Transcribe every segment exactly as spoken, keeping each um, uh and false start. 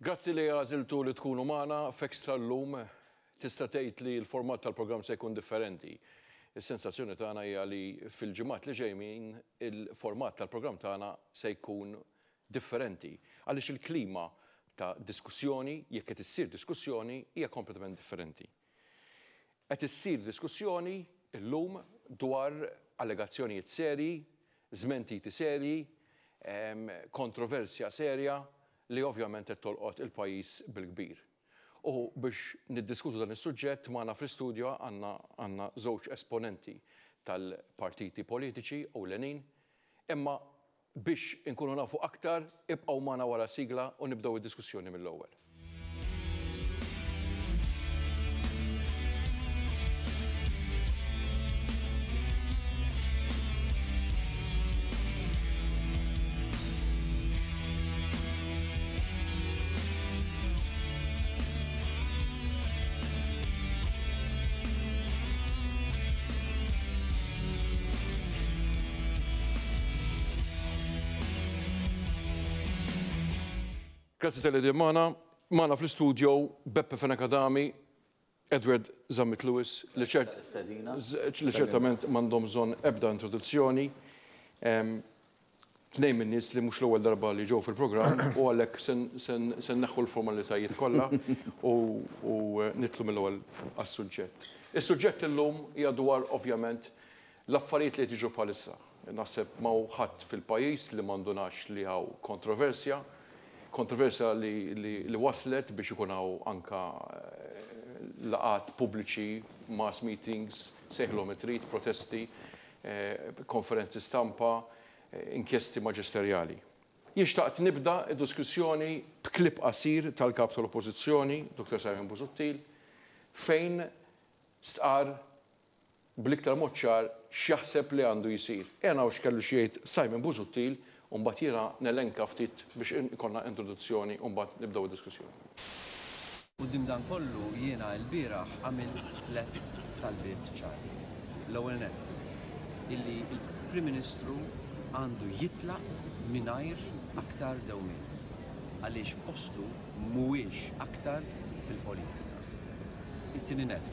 Grazzi li għażiltu li tkunu magħna f'Extra llum. Tista' tgħid li l-format tal-programm se jkun differenti. Is-sensazzjoni tagħna hija li fil-ġimgħat li ġejjin il-format tal-programm tagħna se jkun differenti. Għaliex il-klima ta' diskussjoni, jekk qed issir diskussjoni, hija kompletament differenti. Qed issir diskussjoni llum dwar allegazzjonijiet serji, żmentiti serji, kontroversja serja li ovvjament qed tolqot il-pajjiż bil-kbir. U biex niddiskutu dan is-suġġett magħna fl-istudju għandna għandna żewġ esponenti tal-partiti politiċi ewlenin, imma biex inkunu nafu aktar ibqgħu magħna wara sigla u nibdew id-diskussjoni mill-ewwel. Grazzi tal-li magħna, magħna fl-istudio Beppe Fenech Adami, Edward Zammit Lewis, li ċertament m'għandhom bżonn ebda introduzzjoni. Tnejn minn nies li mhux l-ewwel darba li ġew fil-programm u għalhekk se nneħħu l-formalitajiet kollha u nitlu mill-ewwel għas-suġġett. Is-suġġett illum hija dwar ovvjament l-affarijiet li qed jiġu bħalissa. Naħseb ma hu ħadd fil-pajjiż li m'għandunax li hawn kontroversja. Kontroversja li, li, li waslet biex ikun hawn anka laqgħat pubbliċi, mass meetings, sejħilhom trid, protesti, eh, konferenzi stampa, eh, inkjesti maġisterjali. Jien xtaqt nibda d-diskussjoni b'klip qasir tal-kap tal-Oppożizzjoni, Dottor Simon Busuttil, fejn stqar bl-iktar mod ċar x'jaħseb li għandu jsir. Ejja naraw x'kellu xi jgħid Simon Busuttil u mbagħad jiena nelenka ftit biex ikollna introduzzjoni u mbagħad nibdew id-diskussjoni. Quddiem dan kollu jiena l-bieraħ għamilt tliet talbiet ċari. L-ewwel nett, illi l-Prim Ministru għandu jitlaq mingħajr aktar dewmien għaliex postu mhuwiex aktar fil-politika. It-tieni nett,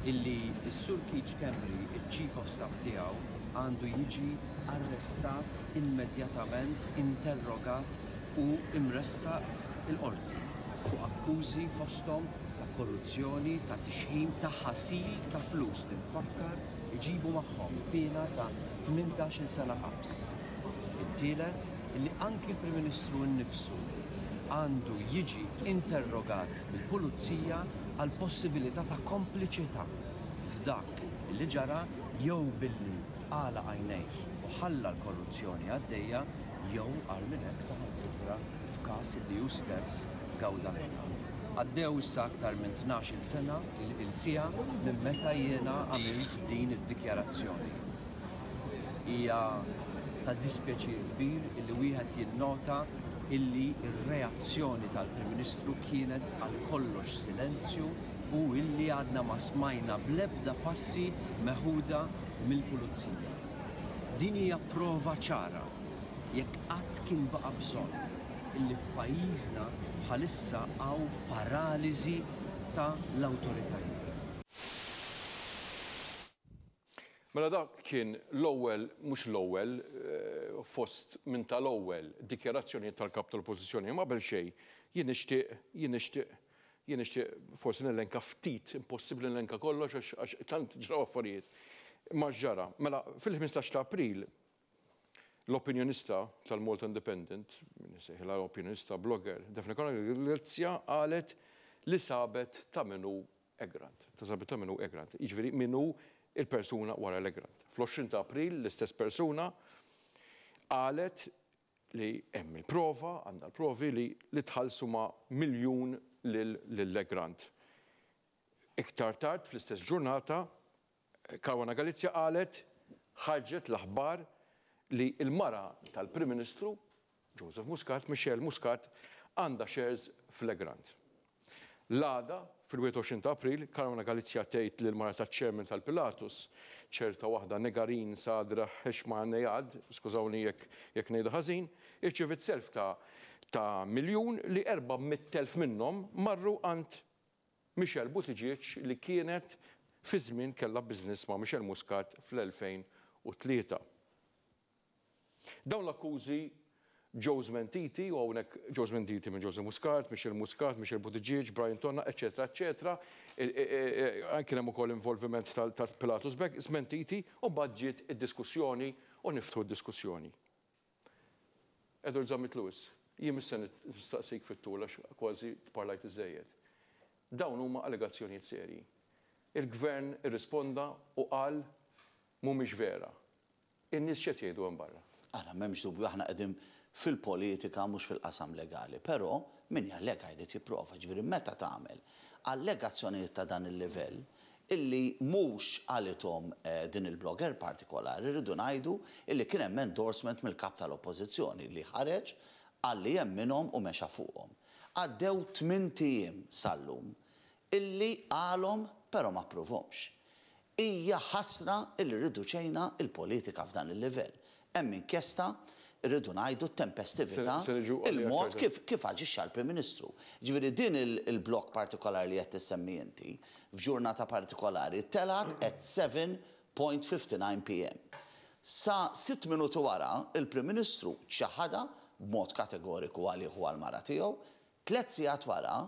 illi s-Sur Keith Schembri, il-Chief of Staff tiegħu, għandu jiġi arrestat immedjatament, interrogat u imressaq il-qorti fuq akkużi fosthom ta' korruzzjoni, ta' tixħim, ta' ħasil ta' flus li nfakkar iġibu magħhom piena ta' tmintax-il sena ħabs. It-tielet, illi anki l-Prim Ministru nnifsu għandu jiġi interrogat mill-pulizija għal possibilità ta' kompliċità f'dak li ġara jew billi għala għajnejh u ħalla l-korruzzjoni għaddejja jew għal minn hekk saħansitra f'każ li hu stess gawda minnha. Għaddew issa aktar minn tnax-il sena il-siegħa minn meta jiena għamilt din id-dikjarazzjoni. Hija ta' dispjaċir kbir illi wieħed jinnota illi r-reazzjoni tal-Prim Ministru kienet għal kollox silenzju u illi għadna ma smajna bl-ebda passi meħuda mill-pulizija. Din hija prova ċara jekk qatt kien baqa' bżonn illi f'pajjiżna bħalissa hawn paraliżi ta' l-awtoritajiet. Mela dak kien l-ewwel, mhux l-ewwel, fost minn tal-ewwel dikjarazzjonijiet tal-kap tal-Oppożizzjoni. Ma qabel xejn, jien nixtieq, jien nixtieq, jien nixtieq forsi nelenka ftit, impossibbli nelenka kollox għax tant ġraw affarijiet. Ma ġara, mela fil-ħmistax ta' April l-opinjonista tal-Malta Independent, sejħilha opinjonista blogger, Daphne Caruana Galizia qalet li sabet ta' minnu Egrant. Ta' sabet ta' minnu Egrant. Jiġifieri minnu il-persuna wara l-Egrant. Fl-għoxrin ta' April l-istess persuna qalet li hemm il-prova, għandha l-provi li li tħallsu ma' miljun lill-Egrant. Iktar tard fl-istess ġurnata Caruana Galizia qalet ħarġet l-aħbar li l-mara tal-Prim Ministru Joseph Muscat, Michelle Muscat, għandha shares fl-Egrant. L-għada, fil-wieħed u għoxrin ta' April, Caruana Galizia tgħid lil mara taċ-chairman tal-Pilatus, ċerta waħda Negarin Sadra Heshma Nejad, skużawni jekk jekk ngħidu ħażin, irċevit self ta' ta' miljun li erba' mitt elf minnhom marru għand Michelle Buttigieg li kienet fi żmien kellha business ma' Michelle Muscat fl-elfejn u tlieta. Dawn l-akkużi ġew żmentiti, u hawnhekk ġew żmentiti minn Joseph Muscat, Michelle Muscat, Michelle Buttigieg, Brian Tonna, eċetera, eċetera. Kien hemm ukoll involviment tal-Pilatus Bank, żmentiti, u mbagħad ġiet id-diskussjoni u niftħu d-diskussjoni. Edward Zammit Lewis, jien mhux se nistaqsik fit-tul għax kważi tparlajt iżejjed. Dawn huma allegazzjonijiet serji. Il-gvern irrisponda u qal mhumiex vera. In-nies x'qed jgħidu hemm barra? Ara, m'hemmx dubju, aħna qegħdin fil-politika mhux fil-qasam legali, però min jallega jrid jipprova, ġifieri meta tagħmel allegazzjonijiet ta' dan il-livell illi mhux qalithom din il-blogger partikolari, rridu ngħidu illi kien hemm endorsement mill-kap tal-oppożizzjoni li ħareġ għalli hemm minnhom u mexa fuqhom. Għaddew tmien ijiem sal-lum illi qalhom però ma ppruvhomx. Hija ħasra illi riduċejna il-politika f'dan il-livell. Hemm inkjesta, rridu ngħidu t-tempestività, Se niġu għalija il-mod aktar kif, kif aġixxa l-Prim Ministru. Ġifieri din il-blok partikolari li qed tissemmi inti, f'ġurnata partikolari, telat at seven point fifty nine P M. Sa sitt minuti wara, il-Prim Ministru ċaħada b'mod kategoriku għalih u għal-mara tiegħu, tliet sigħat wara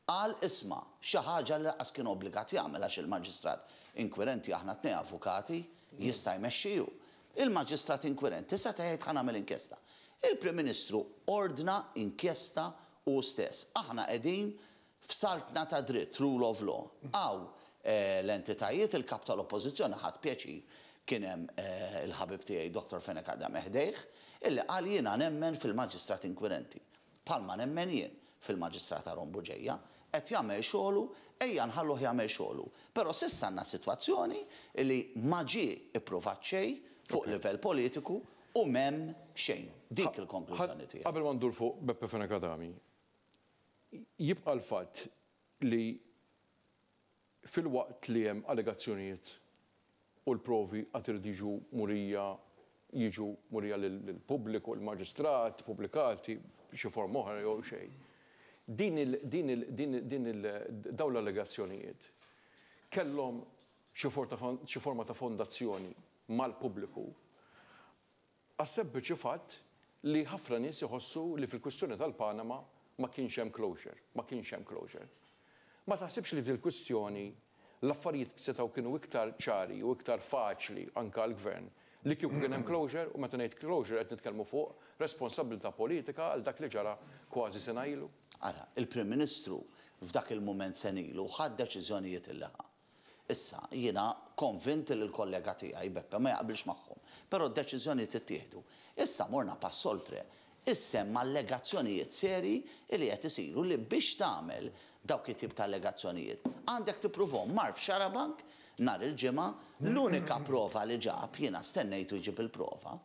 qal isma' xi ħaġa li lanqas kien obbligat jagħmel għax il-maġistrat inkwirenti aħna tnejn avukati jista' jmexxiju. Il-maġistrat inkwirenti seta' jgħid ħa nagħmel inkjesta. Il-Prim Ministru ordna inkjesta u stess. Aħna qegħdin f'saltna ta' dritt, rule of law. Għaw, eh, l-entitajiet, il-kap tal-oppożizzjoni ħadd pjaċir kien hemm, eh, il-ħabib tiegħi Doktor Fenech Adami ħdejh, illi qal jiena nemmen fil-maġistrat inkwirenti. Palma nemmen jien fil-maġistrat Aaron Bugeja, qed jagħmel xogħlu, ejja nħalluh jagħmel xogħlu. Però s'issa għandna sitwazzjoni li ma ġie ippruvat xejn fuq livell politiku u m'hemm xejn. Dik il-konklużjoni tiegħi. Qabel ma ndur fuq Beppe Fenech Adami, jibqa' l-fatt li fil-waqt li hemm allegazzjonijiet u l-provi għad iridu jiġu murija, jiġu murija lill-pubbliku, l-maġistrat, pubblikati xi forma oħra jew xejn. Din il-, din il-, din il-, din il-, dawn l-allegazzjonijiet kellhom xi forma ta' fon-, xi forma ta' fondazzjoni mal-pubbliku għas-sempliċi fatt li ħafna nies iħossu li fil-kwistjoni tal-Panama ma kienx hemm closure, ma kienx hemm closure. Ma taħsibx li fil-kwistjoni l-affarijiet setgħu kienu iktar ċari u iktar faċli anke għall-gvern li kieku kien hemm closure, u meta ngħid closure qed nitkellmu fuq responsabilità politika għal dak li ġara kważi sena ilu. Ara, il-Prim Ministru f'dak il-mument senilu ħad deċiżjonijiet illi ħa. Issa, jiena konvint li l-kollega tiegħi Beppe ma jaqbilx magħhom, però d-deċiżjonijiet ittieħdu. Issa morna pass oltre. Issa hemm allegazzjonijiet seri li qed isiru li biex tagħmel dawk it-tip ta' allegazzjonijiet għandek tippruvhom. Mar f'Xarabank nhar il-ġimgħa, l-unika prova li ġab, jiena stennejtu jġib il-prova,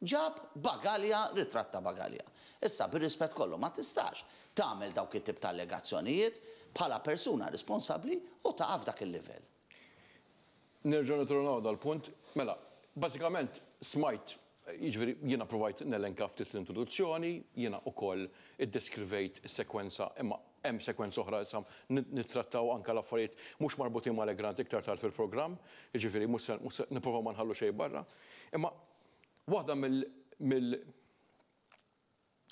ġab bagalja, ritratt ta' bagalja. Issa bir-rispett kollu ma tistax tagħmel dawk it-tip ta' allegazzjonijiet bħala persuna responsabbli u taqaf dak il-livell. Nerġgħu nitornaw dal-punt. Mela, bażikament smajt, jiġifieri jiena provajt nelenka ftit l-introduzzjoni, jiena wkoll iddeskrivejt is-sekwenza, imma hemm sekwenza oħra issa nittrattaw anke l-affarijiet mhux marbutin mal-Egrant iktar tard fil-programm, jiġifieri mhux se, mhux se nipprova ma nħallu xejn barra. Imma waħda mill, mill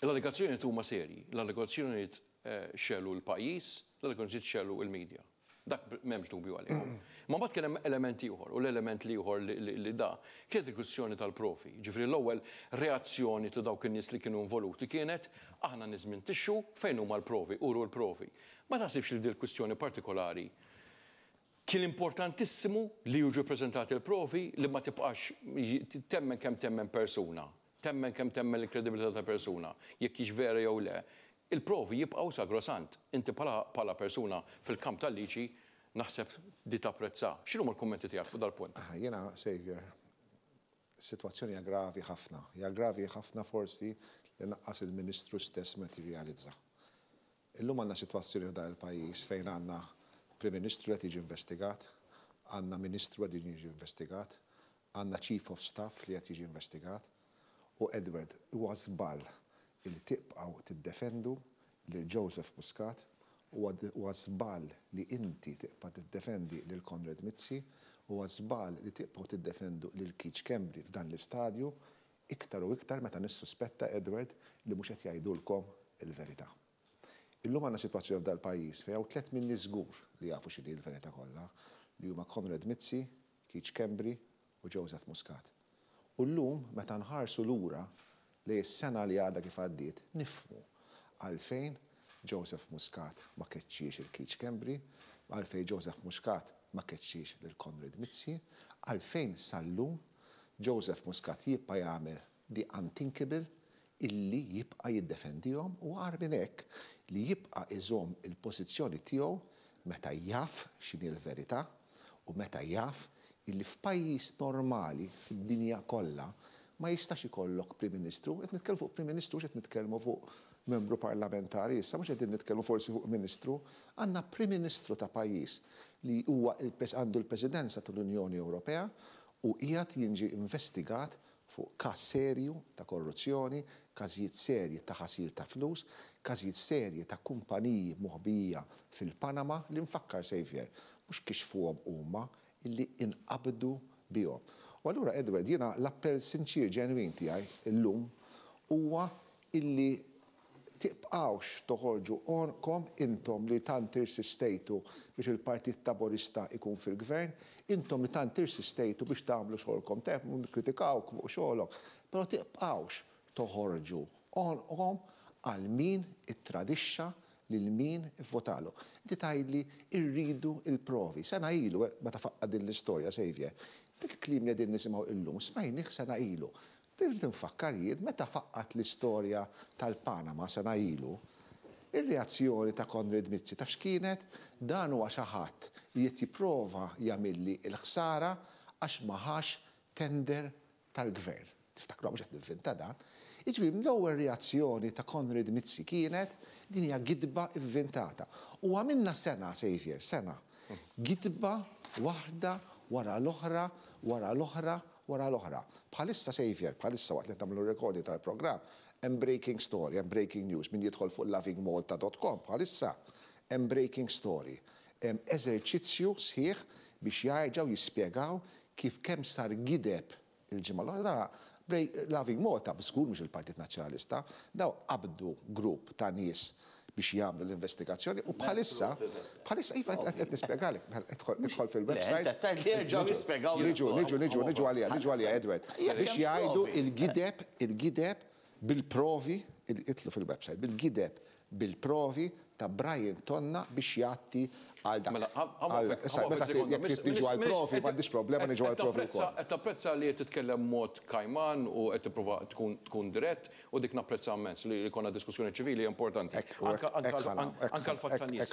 l-allegazzjonijiet huma serji, l-allegazzjonijiet, eh, xelu l-pajjiż, l-allegazzjonijiet xelu l-medja. Dak m'hemmx dubju għalihom. Ma mbagħad kien hemm element ieħor, u l-element ieħor li, li, li da kienet il-kwistjoni tal-profi. Ġifieri l-ewwel reazzjoni ta' dawk in-nies li kienu involuti kienet aħna niżmintixxu fejn huma l-provi, uru l-provi. Ma taħsibx li din il-kwistjoni partikolari kien importantissimu li jiġu ppreżentati l-provi li ma tibqax temmen kemm temmen persuna, temmen kemm temmen l-kredibilità ta' persuna, jekk hix vera jew le. Il-provi jibqgħu sagrosant. Inti bħala, bħala persuna fil-kamp tal-liġi naħseb di tapprezza. X'inhuma l-kummenti tiegħek fuq dal-punt? Ah, jiena, Xavier, is-sitwazzjoni hija gravi ħafna. Hija gravi ħafna forsi li naqqas il-Ministru stess ma tirrealizza. Illum għandna sitwazzjoni f'dan il-pajjiż fejn għandna Prim Ministru qed jiġi investigat, għandna Ministru qed jiġi investigat, għandna Chief of Staff li qed jiġi investigat, u Edward huwa żball Illi tibqgħu tiddefendu lil Joseph Muscat, huwa żball li inti tibqa' tiddefendi lil Konrad Mizzi, huwa żball li tibqgħu tiddefendu lil Keith Schembri f'dan l-istadju, iktar u iktar meta nissuspetta, Edward, li mhux qed jgħidulkom il-verità. Illum għandna sitwazzjoni f'dal-pajjiż fejn hawn tliet minni żgur li jafu x'inhi l-verità kollha, li huma Konrad Mizzi, Keith Schembri u Joseph Muscat. U llum meta nħarsu lura li s-sena li għadha kif għaddiet, nifhmu għalfejn Joseph Muscat ma keċċiex il Keith Schembri, għalfejn Joseph Muscat ma keċċiex lil Konrad Mizzi, għalfejn sal-lum Joseph Muscat jibqa' jagħmel the unthinkable, illi jibqa' jiddefendihom, u agħar minn hekk li jibqa' iżomm il-pożizzjoni tiegħu meta jaf x'inhi l-verità u meta jaf illi f'pajjiż normali fid-dinja kollha ma jistax ikollok Prim Ministru. Qed nitkellmu fuq Prim Ministru, qed nitkellmu fuq membru parlamentari, issa mhux qegħdin nitkellmu forsi fuq Ministru, għandna Prim Ministru ta' pajjiż li huwa għandu l-Presidenza tal-Unjoni Ewropea u qiegħed jiġi investigat fuq każ serju ta' korruzzjoni, każijiet serji ta' ħasil ta' flus, każijiet serji ta' kumpaniji moħbija fil-Panama li nfakkar, Xavier, mhux kixfuhom huma, illi inqabdu bihom. U allura, Edward, jiena l-appell sinċir ġenwin tiegħi illum huwa illi tibqgħux toħorġu għonqkom intom li tant irsistejtu biex il-Partit Laburista ikun fil-gvern, intom li tant irsistejtu biex tagħmlu xogħolkom, tajjeb nikkritikawk fuq xogħolok, però tibqgħux toħorġu għonqkom għal min ittradixxa lil min ivvotalu. Inti tgħidli irridu il-provi. Sena ilu, meta faqqa din l-istorja, Xavier, il-kliem li qegħdin nisimgħu illum, smajnih sena ilu. Trid tinfakkar jien meta faqqat l-istorja tal-Panama sena ilu, ir-reazzjoni ta' Konrad Mizzi taf x'kienet? Dan huwa xi ħadd li qed jipprova jagħmilli l-ħsara għax ma ħax tender tal-gvern. Tiftakru, mhux qed nivvinta dan. Jiġifieri l-ewwel reazzjoni ta' Konrad Mizzi kienet din hija gidba ivvintata. U għamilna sena, Xavier, sena. Gidba waħda wara l-oħra, wara l-oħra, wara l-oħra. Bħalissa, Xavier, bħalissa waqt li tagħmlu recording tal-programm, hemm breaking story, hemm breaking news, min jidħol fuq lovingmalta dot com bħalissa hemm breaking story. Hemm eżerċizzju sħiħ biex jerġgħu jispjegaw kif kemm sar gideb il-ġimgħa l-oħra. Loving Malta, b'żgur mhux il-Partit Nazzjonalista, daw qabdu grupp ta' nies biex jagħmlu l-investigazzjoni u bħalissa, bħalissa, iva, qed nispjegalek, idħol fil-website. Niġu, niġu, niġu, niġu għalija, niġu għalija, Edward. Biex jgħidu il-gideb, il-gideb bil-provi, idħlu fil-website, bil-gideb bil-provi ta' Brian Tonna biex jgħatti għal dak. Mela, Meta jekk niġu għal provi, m'għandix problema niġu għal provi wkoll. Qed tapprezza li qed titkellem mod kajman u qed tipprova tkun dirett u dik napprezza immens, li jkollna diskussjoni ċivili importanti. Anka l-fatt tan-nies.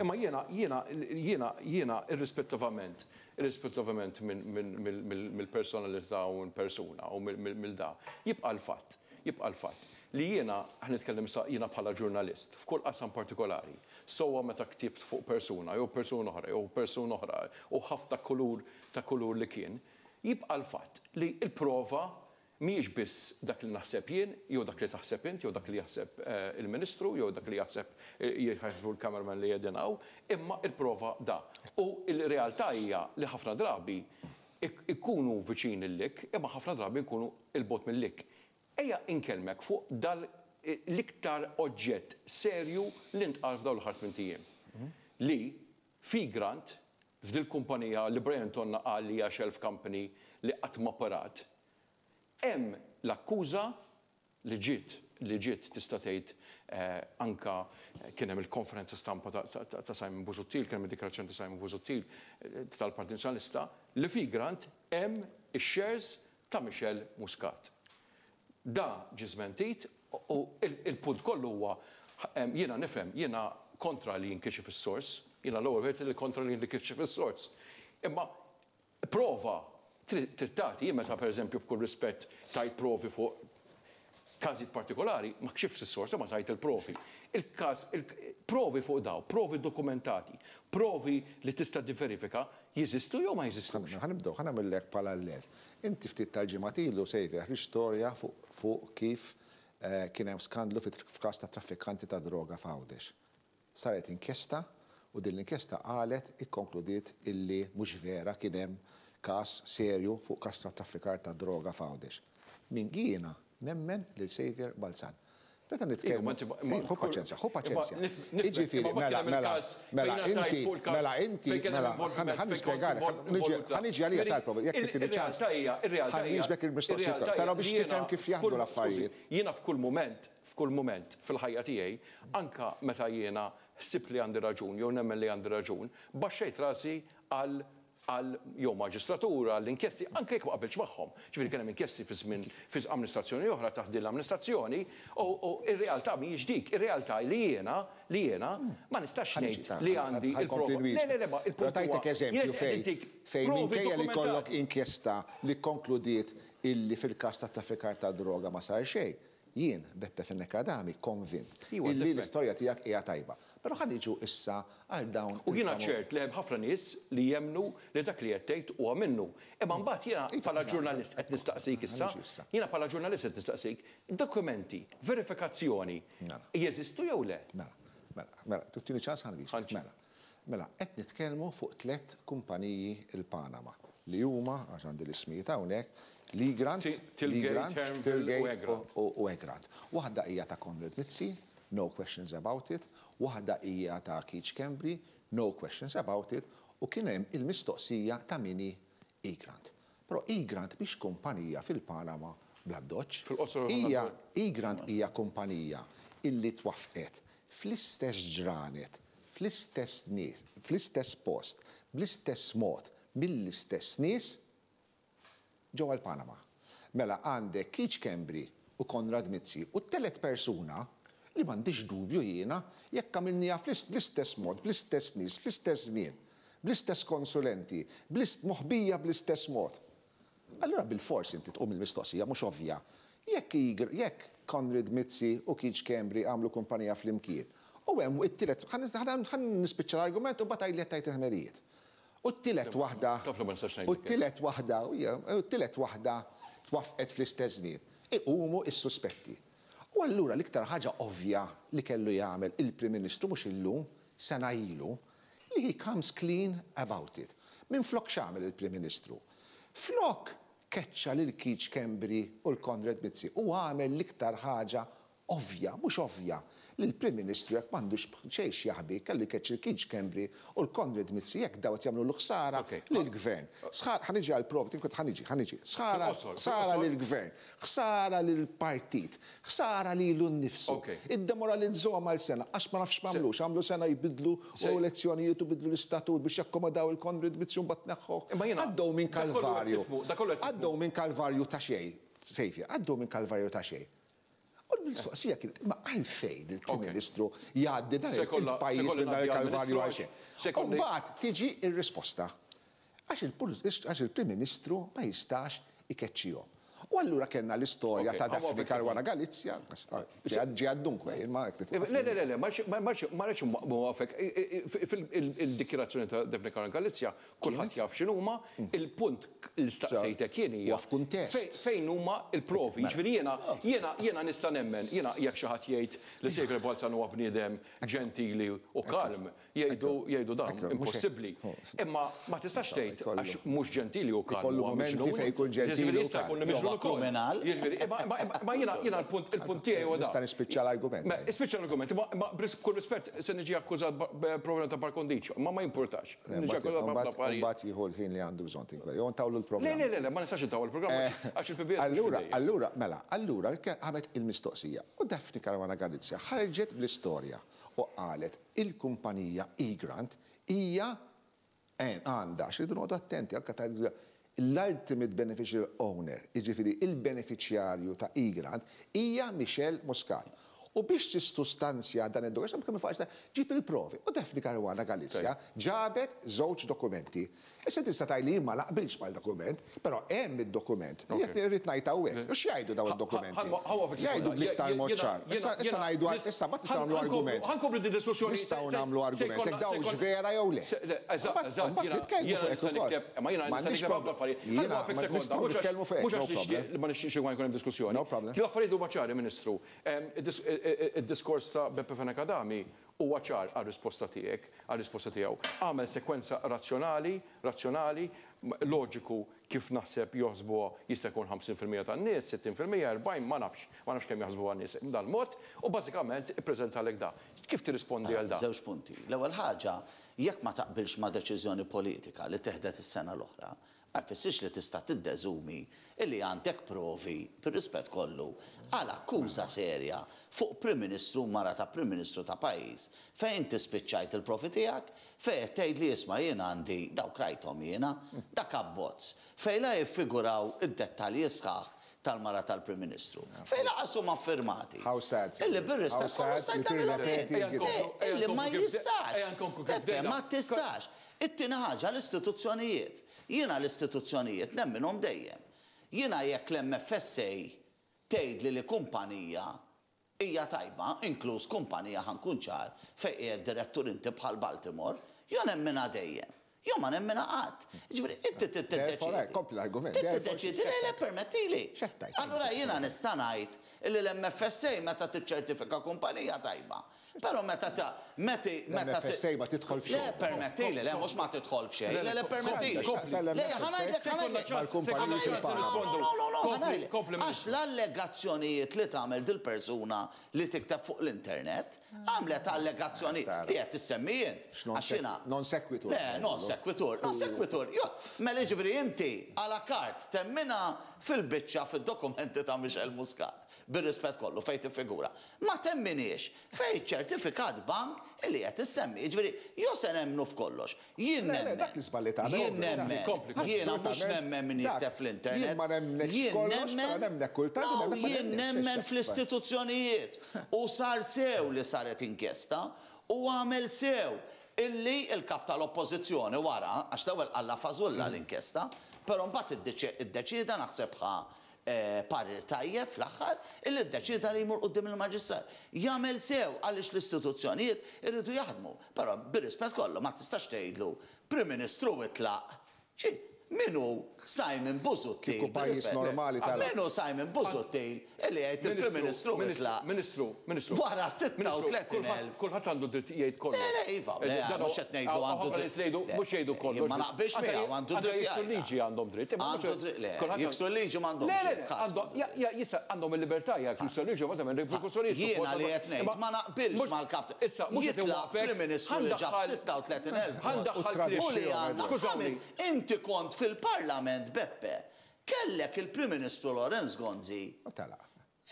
Imma jiena jiena jiena jiena irrispettivament irrispettivament mill-personalità u persuna u mill-da, jibqa' l-fatt, jibqa' l-fatt li jiena, ħa nitkellem sa jiena bħala ġurnalist, f'kull qasam partikolari, sowa meta ktibt fuq persuna, jew persuna oħra, jew persuna oħra, u ħafna kulur ta' kulur li kien, jibqa' l-fatt li l-prova mhijiex biss dak li naħseb jien, jew dak li taħseb int, jew dak li jaħseb eh, il-Ministru, jew dak li jaħseb eh, jaħsbu l-cameraman li jedinaw, imma il-prova da. U il-realtà hija li ħafna drabi ikunu viċin il-lik, imma ħafna drabi ikunu 'il bogħod mill-lik. Ejja inkellmek fuq dal l-iktar oġġett serju li ntqal f'dawn l-aħħar tmint ijiem. Li fi Grant, f'dil kumpanija li Brian Tonna qal li hija shelf company li qatt ma operat, hemm l-akkuża li ġiet li ġiet tista' tgħid eh, anka kien hemm il-konferenza stampa ta' Simon Busuttil, kien hemm id-dikjarazzjoni ta' Simon Busuttil eh, tal-Partit Nazzjonalista li fi Grant hemm ix-shares ta' Michelle Muscat. Da ġie żmentit u il-punt kollu huwa, jiena nifhem, jiena kontra li jinkixef is-sors, jiena l-ewwel wieħed li kontra li jinkixef is-sors. Imma prova trid tagħti. Jien meta, pereżempju, b'kull rispett, tajt provi fuq każijiet partikolari, ma kxifx is-sors, ma tajt il-provi. Il-każ, provi fuq daw, provi dokumentati, provi li tista' diverifika, jeżistu jew ma jeżistux? Ħa nibdew, ħa nagħmellek parallel. Inti ftit tal-ġimgħat ilu, Xavier, storja fuq kif Kien hemm skandlu f'każ ta' traffikanti ta' droga f'Għawdex. Saret inkjesta u din l-inkjesta qalet, ikkonkludiet illi mhux vera kien hemm każ serju fuq każ ta' traffikar ta' droga f'Għawdex. Min jiena nemmen lil Saviour Balzan. Meta nitkellmu, ħu paċenzja, ħu paċenzja. Jiġifieri, mela, mela, mela, inti, mela, inti, mela, ħa nispjegalek, ħa niġi għalija tal-prova, jekk tini ċans. Ħa nwieġbek il-mistoqsija, però biex tifhem kif jaħdmu l-affarijiet. Jiena f'kull mument, f'kull mument fil-ħajja tiegħi, anka meta jiena ħsibt li għandi raġun jew nemmen li għandi raġun, baxxejt rasi għal għal jew maġistratura, għall inkjesti, anke jekk ma qabilx magħhom. Ġifieri kien hemm inkjesti fi żmien fi amministrazzjoni oħra taħt din l-amministrazzjoni, u r-realtà mhijiex dik, ir-realtà li jiena li jiena ma nistax ngħid li għandi il-prova. Le, le, le, ma il-punt. Tajtek eżempju fejn fejn minkejja li kollok inkjesta li konkludiet illi fil-każ ta' traffikar ta' droga ma sar xejn. Jien, Beppe Fenech Adami, konvint illi l-istorja tiegħek hija tajba. Però ħa niġu issa għal dawn. U jiena ċert li hemm ħafna nies li jemnu li dak li qed tgħid huwa minnu. Imma mbagħad jiena bħala ġurnalist qed nistaqsik issa, jiena bħala ġurnalist qed nistaqsik, dokumenti, verifikazzjoni, jeżistu jew le? Mela, mela, mela, tini ċans ħa nwieġbek. Mela, mela, qed nitkellmu fuq tliet kumpaniji il-Panama li huma, għax għandi l-ismijiet hawnhekk, Lee-Grant, Lee-Grant, Tilgate u Egrant. Waħda hija ta' Konrad Mizzi, no questions about it. Waħda hija ta' Keith Schembri, no questions about it. U kien hemm il-mistoqsija ta' min hi Egrant. Però Egrant biex kumpanija fil-Panama bl-addoċċ. Hija Egrant hija kumpanija illi twaffqet fl-istess ġranet, fl-istess nies, fl-istess post, bl-istess mod, mill-istess nies ġewwa l-Panama. Mela għandek Keith Schembri u Konrad Mizzi u t-telet persuna li m'għandix dubju jiena jekk għamilniha bl-istess mod, bl-istess nies, fl-istess żmien, bl-istess konsulenti, moħbija bl-istess mod. Allura bil-fors inti tqum il-mistoqsija mhux ovvja. Jekk jekk Konrad Mizzi u Keith Schembri għamlu kumpanija flimkien. U hemm it-tielet, ħa nispiċċa l-argument u mbagħad li tajt il-ħmerijiet. U t-tielet waħda, u t-tielet waħda, u t-tielet waħda twaffqet fl-istess żmien. Iqumu is-suspetti. U allura l-iktar ħaġa ovvja li kellu jagħmel il-Prim Ministru mhux illum, sena ilu, li he comes clean about it. Min flok x'għamel il-Prim Ministru? Flok keċċa lil Keith Schembri u l-Konrad Mizzi u għamel l-iktar ħaġa ovvja, mhux ovvja, li l-Prim Ministru jekk m'għandux xejn jaħbi kellu jkeċċi l-Keith Schembri u l-Konrad Mizzi jekk daw qed jagħmlu l-ħsara lill-gvern. Ħa niġi għall-provi, tinkut ħa niġi, ħa niġi. Ħsara lill-gvern, ħsara lill-partit, ħsara lilu nnifsu. Iddemoralizzahom għal sena, għax ma nafx m'għamlux, għamlu sena jbidlu u elezzjonijiet u bidlu l-istatut biex jakkomodaw il-Konrad Mizzi u mbagħad neħħuh. Għaddew minn kalvarju. Għaddew minn kalvarju ta' xejn, Sejfja, għaddew minn kalvarju ta' xejn. U l-mistoqsija kienet, ma għalfejn il-Prim Ministru jgħaddi dan il-pajjiż minn dan il-kalvarju għal xejn. U mbagħad tiġi r-risposta. Għax il-Prim Ministru ma jistax ikeċċihom. U allura kellna l-istorja ta' Daphne Caruana Galizia, ġi għaddunkwe, ma Le, le, le, le, ma rridx mwafek. Il-dikjarazzjoni ta' Daphne Caruana Galizia, kulħadd jaf x'inhuma, il-punt li staqsejtek jien hija. F'kuntest. Fejn huma l-provi? Jiġifieri jiena jiena jiena nista' nemmen, jiena jekk xi ħadd jgħid li Saviour Balzan huwa bniedem ġentili u kalm, jgħidu jgħidu dan impossibbli. Imma ma tistax tgħid għax mhux ġentili u kalm. Ikollu momenti fejn jkun ġentili u kalm. Kriminal. Ma jiena jiena l-punt il-punt tiegħi huwa dan. Nista' nispiċċa l-argument. Ispiċċa l-argument, ma b'kull rispett se niġi akkużat problema ta' par condicio, ma ma jimpurtax. Niġi akkużat b'ħafna affarijiet. Mbagħad jieħu l-ħin li għandu bżonn tinkwel. Jew ntawlu l-programm. Le, le, le, ma nistax intawlu l-programm għax il-P B S. Allura, allura, mela, allura għamet il-mistoqsija. U Daphne Caruana Galizia ħarġet bl-istorja u qalet il-kumpanija Egrant hija għandha xi noqogħdu attenti anke ta' l-ultimate beneficial owner, jiġifieri il-beneficjarju ta' Egrant, hija Michelle Muscat. U biex tissustanzja dan id-dokument, kemm faċli ġib il-provi. U Daphne Caruana Galizia ġabet żewġ dokumenti. Issa tista' tgħid li ma naqbilx mal-dokument, però hemm id-dokument. Jekk irrid ngħid hawnhekk, u x'jgħidu dawn id-dokumenti? Jgħidu bl-iktar mod ċar. Issa ngħidu issa ma tistgħu nagħmlu argument. Ħa nkomplu di diskussjoni. Nistgħu nagħmlu argument. Jekk dawn vera jew le. Eżatt, eżatt. Nitkellmu fuq hekk ukoll. Ma jiena nista' nikteb ħafna affarijiet. Nistgħu nitkellmu fuq hekk. Mhux għax ma nixtieqx jkun hemm diskussjoni. No problem. L-affarijiet huma ċari, Ministru. Id-diskors ta' Beppe Fenech Adami huwa ċar għar-risposta tiegħek, għar-risposta tiegħu. Għamel sekwenza razzjonali, razzjonali, loġiku kif naħseb joħsbuha jista' jkun ħamsin fil-mija tan-nies, sittin fil-mija, erbgħin, ma nafx, ma nafx kemm jaħsbuha n-nies dan mod, u bażikament ippreżentalek da. Kif tirrispondi għal da? Żewġ punti. L-ewwel ħaġa, jekk ma taqbilx ma' deċiżjoni politika li teħdet is-sena l-oħra, ma jfissirx li tista' tiddeżumi illi għandek provi, bir-rispett kollu, għal akkuża serja fuq Prim Ministru mara ta' Prim Ministru ta' pajjiż fejn inti spiċċajt il-profi tiegħek, fejn qed tgħid li isma' jien għandi dawk rajthom jiena, dak abbozz, fejn la jiffiguraw id-dettalji sħaħ tal-mara tal-Prim Ministru. Fejn laqas huma affirmati. How sad. Illi bir-rispett kollu stajt nagħmilhom jien. Illi ma jistax. Beppe, ma tistax. It-tieni ħaġa l-istituzzjonijiet. Jiena l-istituzzjonijiet nemminhom dejjem. Jiena jekk l-M F S A tgħidli li kumpanija hija tajba, inkluż kumpanija ħankun ċar fejn qiegħed direttur inti bħal Baltimore, jo nemminha dejjem. Jo ma nemmina qatt. Ġifieri, inti trid tiddeċiedi. Kompli l-argument. Trid tiddeċiedi, le, le, permettili. X'qed tgħid? Allura jiena nista' ngħid illi l-M F S A meta tiċċertifika kumpanija tajba. Però meta ta' meti, meta L-M F S A ma tidħol f'xejn. Le, permettili, le, mhux ma tidħol f'xejn. Le, le, permettili. Le, ħa ngħidlek, ħa ngħidlek. Mal-kumpaniji fil-Panama. No, no, no, no, ħa ngħidlek. Għax l-allegazzjonijiet li tagħmel dil-persuna li tikteb fuq l-internet, għamlet allegazzjoni li qed tissemmi int. Għax jiena Non sequitur. Le, non sequitur, non sequitur. Jo, mela jiġifieri inti à la carte temmina fil-biċċa fid-dokumenti ta' Michel Muscat, bir-rispett kollu fejn tiffigura. Ma temminiex fejn ċertifikat bank li qed issemmi. Jiġifieri, jo se nemmnu f'kollox. Jien Le, le, nemmen. dak l-iżball li tagħmel, Jien ovvju, dak. nemmen. Kompli, kompli. Jiena mhux nemmen min Dak, jikteb fl-internet. Jien ma nemmenx Jien kollox, nemmen. però nemmek kultant, No, nemmek ma jien nemmenx. nemmen fl-istituzzjonijiet. U sar sew li saret inkjesta u għamel sew illi il-kap tal-oppożizzjoni wara, għax l-ewwel qalla fażulla l-inkjesta, però mbagħad iddeċi-, iddeċieda naħseb ħa, eh, parir tajjeb fl-aħħar, illi ddeċieda li jmur quddiem il-maġistrat. Jagħmel sew għaliex l-istituzzjonijiet irridu jaħdmu, però bir-rispett kollu ma tistax tgħidlu Prim Ministru itlaq. Ġi, minu Simon Busuttil? Kieku pajjiż bir-rispett. normali tal- Minu Simon Busuttil illi jgħid il-Prim Ministru itlaq? Ministru, Ministru. Wara sitta u tletin elf. Kulħadd għandu dritt jgħid kollox. Le, le, iva, le, Eh, dan mhux qed ngħidu hawn għandu ħafna dritt. nies li jgħidu, Le, mhux jgħidu kollox. ma naqbilx Anke miegħu, għandu anke dritt jiksru jgħid. liġi għandhom dritt, imma Għandu mhux dritt, le, kulħadd jiksru liġi m'għandhomx Le, le, dritt, ħadd għandhom, ja, ja, jista' għandhom il-libertà jekk jiksru liġi, ma tagħmel riperkussjonijiet, Jiena suppost, li qed ngħid, imma ma naqbilx mhux mal-kap. Issa, mhux qed Jitlaq iwaqfek, Prim Ministru li ġab ħandaħħal- sitta u tletin elf. ħandaħħal U kliem. U li għandna Skużawni. ħames, inti kont fil-Parlament, Beppe, kellek il-Prim Ministru Lawrence Gonzi. U telaq.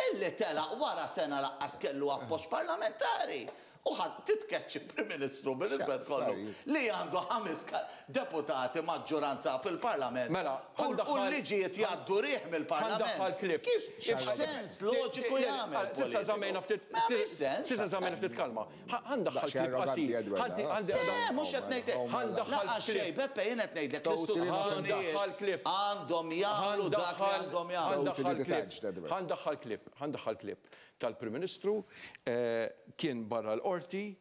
Illi telaq wara sena laqqas kellu appoġġ parlamentari. U ħadd titkeċċi Prim Ministru bil-rispett kollu li għandu ħames ka-, deputati maġġoranza fil-Parlament. Mela, U ħandaħħal- u l-liġijiet jgħaddu riħ mill-Parlament. Ħandaħħal klib. Kif x'sens loġiku jagħmel Sissa żammejna ftit. Ma jagħmilx sens. Sissa żammejna ftit kalma. Ħa-, ħandaħħal Daqsxejn klib arroganti, qasir. Edward, Ħandi- ah. ħandi- Le, mhux qed ngħidlek. Ħandaħħal Laqas klib. xejn, Beppe, jien qed ngħidlek Totally l-istituzzjonijiet Ħandaħħal klib. għandhom jagħmlu dak li Ħandaħħal- għandhom jagħmlu. ħandaħħal Totally klib. detached, Edward. Ħandaħħal klib. Ħandaħħal klib tal-Prim Ministru, eh, kien barra l-qorti,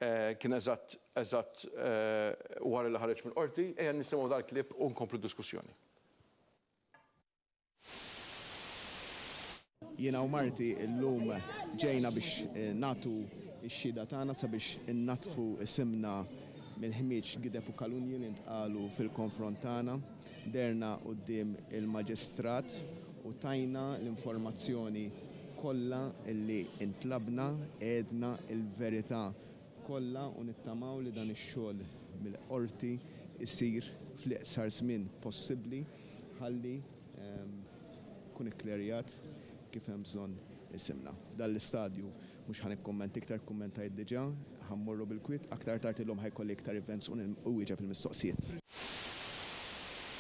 eh, kien eżatt, eżatt, eh, wara li ħareġ mill-qorti, ejja nisimgħu dal-klib u nkomplu diskussjoni. Jiena u Marti llum ġejna biex, eh, natu x-xhieda tagħna sabiex innatfu isimna mill-ħmieġ gideb u kalunji li ntqalu fil-konfront tagħna. Derna quddiem il-maġistrat u tajna l-informazzjoni kollha illi intlabna, għedna il-verità kollha u nittamaw li dan ix-xogħol mill-qorti isir fl-iqsar żmien possibbli ħalli, ehm, kun ikklerjat kif hemm bżonn isimna. F'dan l-istadju mhux ħa nikkummenta iktar, kummentajt diġà, ħammorru bil-kwiet, aktar tard illum ħajkolli iktar events u wieġeb il-mistoqsijiet.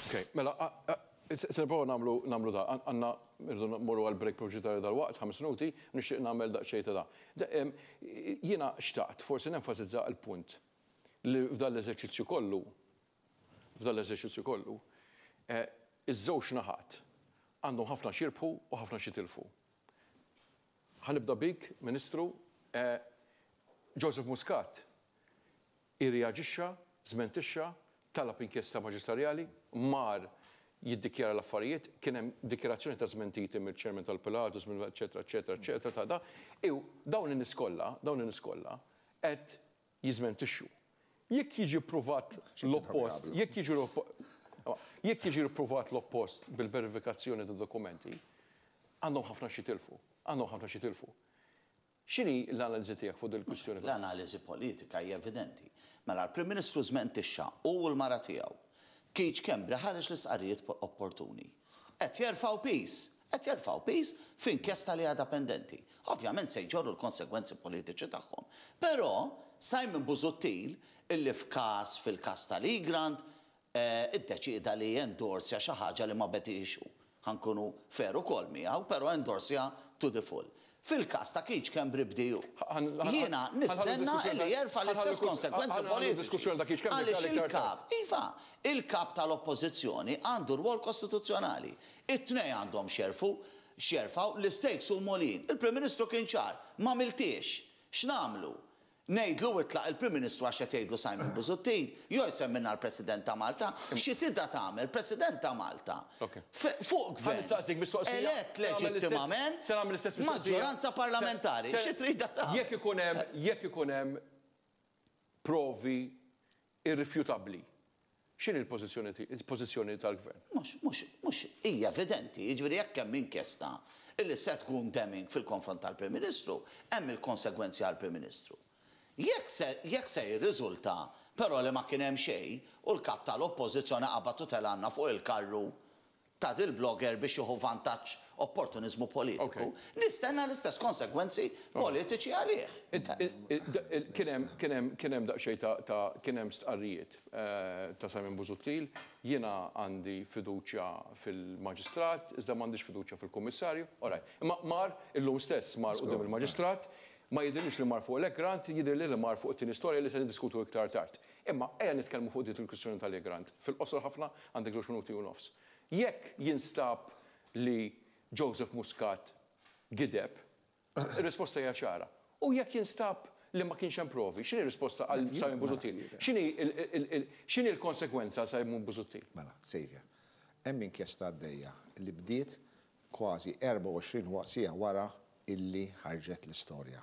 Ok, mela, a, a, Se nipprova nagħmlu nagħmlu da. Għandna irridu mmorru għal break pubbliċitarju dal-waqt, ħames minuti, nixtieq nagħmel daqsxejn ta' da. Jiena xtaqt forsi nenfasizza l-punt li f'dan l-eżerċizzju kollu, f'dan l-eżerċizzju kollu, iż-żewġ naħat għandhom ħafna xirbħu u ħafna xitilfu. Ħa nibda bik, Ministru, Joseph Muscat irreaġixxa, żmentixxa, talab inkjesta maġisterjali, mar jiddikjara l-affarijiet, kien hemm dikjarazzjoni ta' żmentiti mill-chairman tal-Pilatus, mill eċetera, eċetera, eċetera, ta' da. Iw dawn in-nies kollha, dawn in-nies kollha qed jiżmentixxu. Jekk jiġi ppruvat l-oppost, jekk jiġi jekk jiġi ppruvat l-oppost bil-verifikazzjoni ta' dokumenti, għandhom ħafna xitilfu, għandhom ħafna xitilfu. X'inhi l-analiżi tiegħek fuq il-kwistjoni? L-analiżi politika hija evidenti. Mela l-Prim Ministru żmentixxa u l-mara tiegħu. Keith Schembri ħareġ l-istqarrijiet opportuni. Qed jerfgħu piż, qed jerfgħu piż f'inkjesta li għadha pendenti. Ovvjament se jġorru l-konsegwenzi politiċi tagħhom. Però Simon Busuttil illi f'każ fil-każ tal-Egrant iddeċida li jendorsja xi ħaġa li ma bediex hu. Ħa nkunu fair ukoll miegħu, però endorsja to the full. Fil-każ ta' Keith Schembri bdiju. Jiena nistenna illi jerfa' l-istess konsekwenzi politiċi. Għaliex il-kap, iva, il-kap tal-oppożizzjoni għandu rwol kostituzzjonali. It-tnej għandhom xerfu, xerfaw l-istakes u molin. Il-Prim Ministru kien ċar, ma miltiex. X'namlu? Ngħidlu itlaq il-Prim Ministru għax qed jgħidlu Simon Busuttil, jew jsemmilna l-President ta' Malta, xi tida tagħmel President ta' Malta. Fuq gvern. Elett leġittimament maġġoranza parlamentari. Xi trida tagħmel? Jekk ikun hemm jekk ikun hemm provi irrifjutabbli, x'inhi l-pożizzjoni tal-gvern? Mhux mhux mhux hija evidenti, jiġifieri jekk hemm inkjesta illi se tkun damning fil-konfront tal-Prim Ministru, hemm il-konsegwenzi għall-Prim Ministru. Jekk se, jekk se jirriżulta, però li ma kien hemm xejn u l-kap tal-oppożizzjoni qabad u telgħanna fuq il-karru ta' dil-blogger biex jieħu vantaġġ opportunizmu politiku, nistenna l-istess konsekwenzi politiċi għalih. Kien hemm daqsxejn ta' kien hemm stqarrijiet ta' Simon Busuttil, jiena għandi fiduċja fil-maġistrat, iżda m'għandix fiduċja fil-kummissarju. Alright. Imma mar illum stess mar quddiem il-maġistrat, ma jidhirlix li mar fuq l-Egrant, jidhirli li mar fuq it-tieni storja li se niddiskutu iktar tard. Imma ejja nitkellmu fuq dit il-kwistjoni tal-Egrant. Fil-qosor ħafna għandek żewġ minuti u nofs. Jekk jinstab li Joseph Muscat gideb, ir-risposta hija ċara. U jekk jinstab li ma kienx hemm provi, x'inhi r-risposta għal Simon Busuttil? X'inhi l-konsekwenza Simon Busuttil? Mela, Xavier, hemm inkjesta għaddejja li bdiet kważi erbgħa u għoxrin siegħa wara illi ħarġet l-istorja.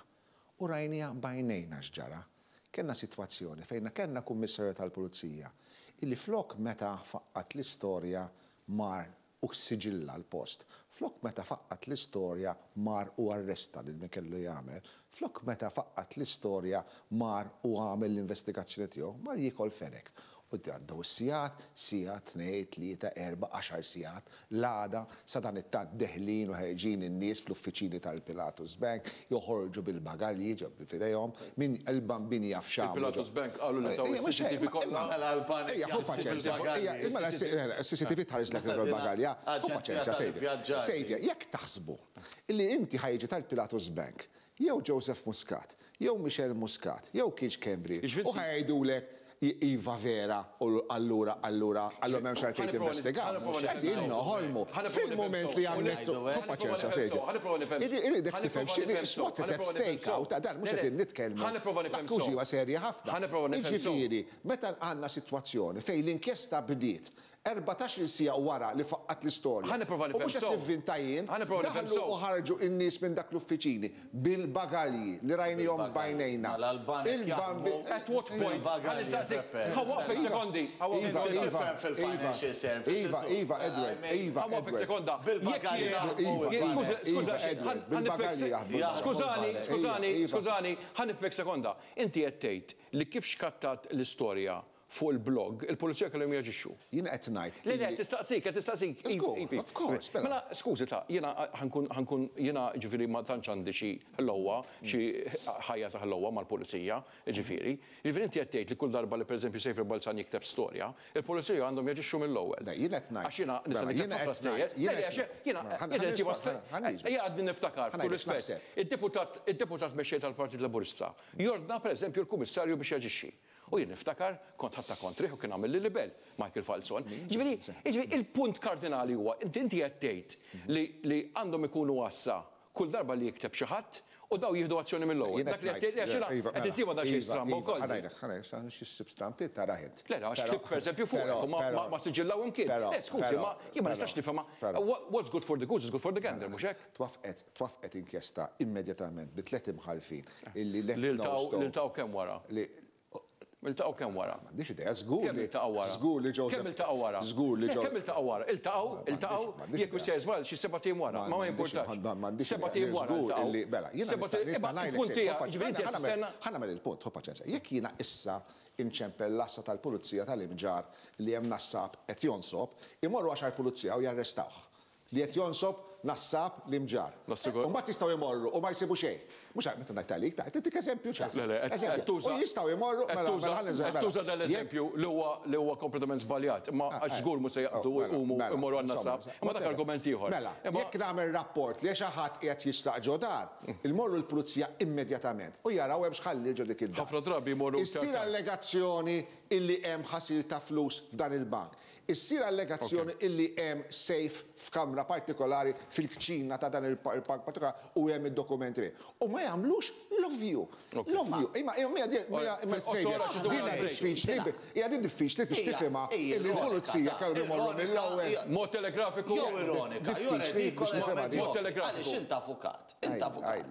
U rajnija bajnejna x'ġara. Kellna sitwazzjoni fejn kellna kummissarju tal-Pulizija illi flok meta faqqat l-istorja mar u siġilla l-post. Flok meta faqqat l-istorja mar u arresta lil min kellu jagħmel. Flok meta faqqat l-istorja mar u għamel l-investigazzjoni tiegħu, mar jiekol fenek. U għaddew is-sigħat, siegħa, tnejn, tlieta, erba', għaxar sigħat, l-għada sa dan it-tant deħlin u ħerġin in-nies fl-uffiċini tal-Pilatus Bank, joħorġu bil-bagalji ġo f'idejhom, min il-bambini jaf x'għamlu. Il-Pilatus Bank qalu li taw is-C C T V kollha. Ejja, ħu paċenzja, ejja, mela s-C C T V tħares lek il-bagalja, ħu paċenzja, Xavier. Xavier, jekk taħsbu illi inti ħajġi tal-Pilatus Bank, jew Joseph Muscat, jew Michelle Muscat, jew Keith Schembri, u ħajdulek iva vera, u allura, allura, allura m'hemmx għalfejn tinvestiga. Qegħdin noħolmu. Fil-moment li għamlettu, ħu paċenzja, Xavier. Irridek tifhem x'inhi what is at stake hawn ta' dan mhux qegħdin nitkellmu. L-akkużi huwa serja ħafna. Jiġifieri, meta għandna sitwazzjoni fejn l-inkjesta bdiet erbatax-il siegħa wara li faqqat l-istorja. U mhux qed nivvinta jien, daħlu u ħarġu n-nies minn dak l-uffiċini bil-bagalji li rajnihom bajnejna. Il-bambi. At what point? Ħa sekondi. Iva, Iva, Edward, Iva, Ħa sekonda. Skużani, skużani, skużani, ħa nifhmek sekonda. Inti qed tgħid li kif xkattat l-istorja fuq il-blog, il-pulizija kellhom jaġixxu. Jien qed ngħid. Le, le, tistaqsik, qed tistaqsik. Of course. Mela, skużi ta' jiena ħankun ħankun jiena ġifieri ma tantx għandi xi ħlowa, xi ħajja ta' ħlowa mal-pulizija, ġifieri. Ġifieri inti qed tgħid li kull darba li pereżempju Saviour Balzan jikteb storja, il-pulizija għandhom jaġixxu mill-ewwel. Jien qed ngħid. Għax jiena nista' nikteb ħafna stejjer. Jiena jiena għadni niftakar, kull rispett. Id-deputat id-deputat mexxej tal-Partit Laburista jordna pereżempju l-Kummissarju biex jaġixxi. U jien niftakar kont ħatta kontrih u kien għamil li libel Michael Falzon. Ġifieri, ġifieri il-punt kardinali huwa inti inti qed tgħid li li għandhom ikunu għassa kull darba li jikteb xi ħadd u daw jieħdu azzjoni mill-ewwel. Dak li qed tgħid għax jiena qed insiba da xi stramba wkoll. Ħa ngħidlek, ħa ngħidlek, sa xi ssib stampi tara int. Le, għax ktib pereżempju fuq ma ma siġillaw imkien. Le, skużi, ma jien ma nistax nifhimha. What's good for the goose is good for the gander, mhux hekk? Twaffqet, twaffqet inkjesta immedjatament bi tliet imħalfin illi left. Lil kemm wara? Iltaqgħu kemm wara? M'għandix idea, żgur li iltaqgħu wara. Żgur li Joseph. Kemm iltaqgħu wara? Żgur li Joseph. Kemm iltaqgħu wara? Iltaqgħu, iltaqgħu, jekk hu se żball xi seba' ijiem wara, ma ma jimpurtax. Seba' ijiem wara. Żgur li mela, jiena nista' ngħidlek. Ħa nagħmel il-punt, ħu paċenzja. Jekk jiena issa inċempel l-assa tal-pulizija tal-Imġarr li hemm nassab qed jonsob, imorru għaxar pulizija u jarrestawh. Li qed jonsob nassab l-Imġarr. U mbagħad jistgħu jmorru u ma jsibu xejn. Mhux meta ngħid għalik, ta' tintik eżempju ċar. U jistgħu jmorru mela mela tuża dal-eżempju li huwa li huwa kompletament żbaljat, imma għax żgur mhux se jaqbdu jqumu jmorru għan-nassab. Imma dak argument ieħor. Mela, jekk nagħmel rapport li xi ħadd qiegħed jisraq ġo dar, imorru l-pulizija immedjatament u jaraw hemm x'ħalli ġo dik id-dar. Ħafna drabi jmorru. Issir allegazzjoni illi hemm ħasil ta' flus f'dan il-bank. Issir allegazzjoni illi hemm safe f'kamra partikolari fil-kċina ta' dan il-bank partikolari u hemm id-dokumenti. U ma jagħmlux l-ovvju. L-ovvju. Imma imma imma dina diffiċli, hija din diffiċli biex tifhimha illi l-pulizija kellhom imorru mill-ewwel. Mod telegrafiku. Jew ironika, jew redikola. Mod telegrafiku. Għaliex int avukat, int avukat.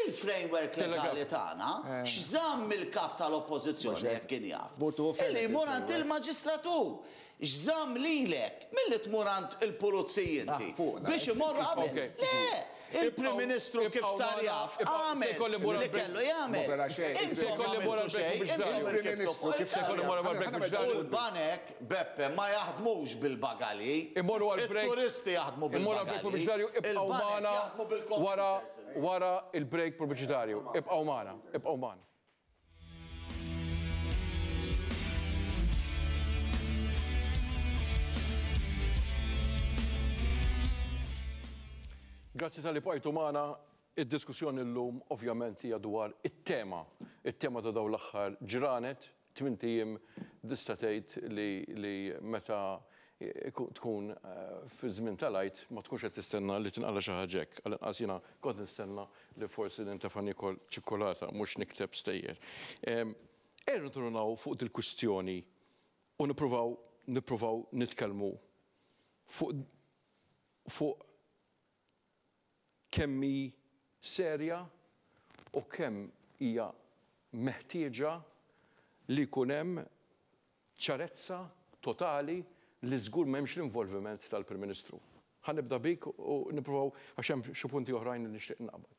Il-framework legali tagħna x'żamm il-kap tal-oppożizzjoni jekk kien jaf. Illi jmur għand il-maġistratur. X'żamm lilek milli tmur għand il-pulizija inti biex imorru qabel. Le, il-Prim Ministru kif sar jaf għamel li kellu jagħmel. U l-banek, Beppe, ma jaħdmux bil-bagali. Il-turisti jaħdmu bil-bagali. Ibqgħu magħna wara wara il-break pubbliċitarju. Ibqgħu magħna, ibqgħu magħna. Grazzi tal-li bqajtu magħna. Id-diskussjoni llum ovvjament hija dwar it-tema, it-tema ta' dawn l-aħħar ġranet, tmint ijiem tista' tgħid li li meta tkun fi żmien tal-Għid ma tkunx qed tistenna li tinqala xi ħaġa hekk. Għall-inqas jiena kont nistenna li forsi nintefa' niekol ċikkulata mhux nikteb stejjer. Ejja nirritornaw fuq dil-kwistjoni u nippruvaw nippruvaw nitkellmu fuq fuq kemm hi serja u kemm hija meħtieġa li jkun hemm ċarezza totali li żgur m'hemmx l-involviment tal-Prim Ministru. Ħa nibda bik u nippruvaw għax hemm xi punti oħrajn li nixtieq naqbad.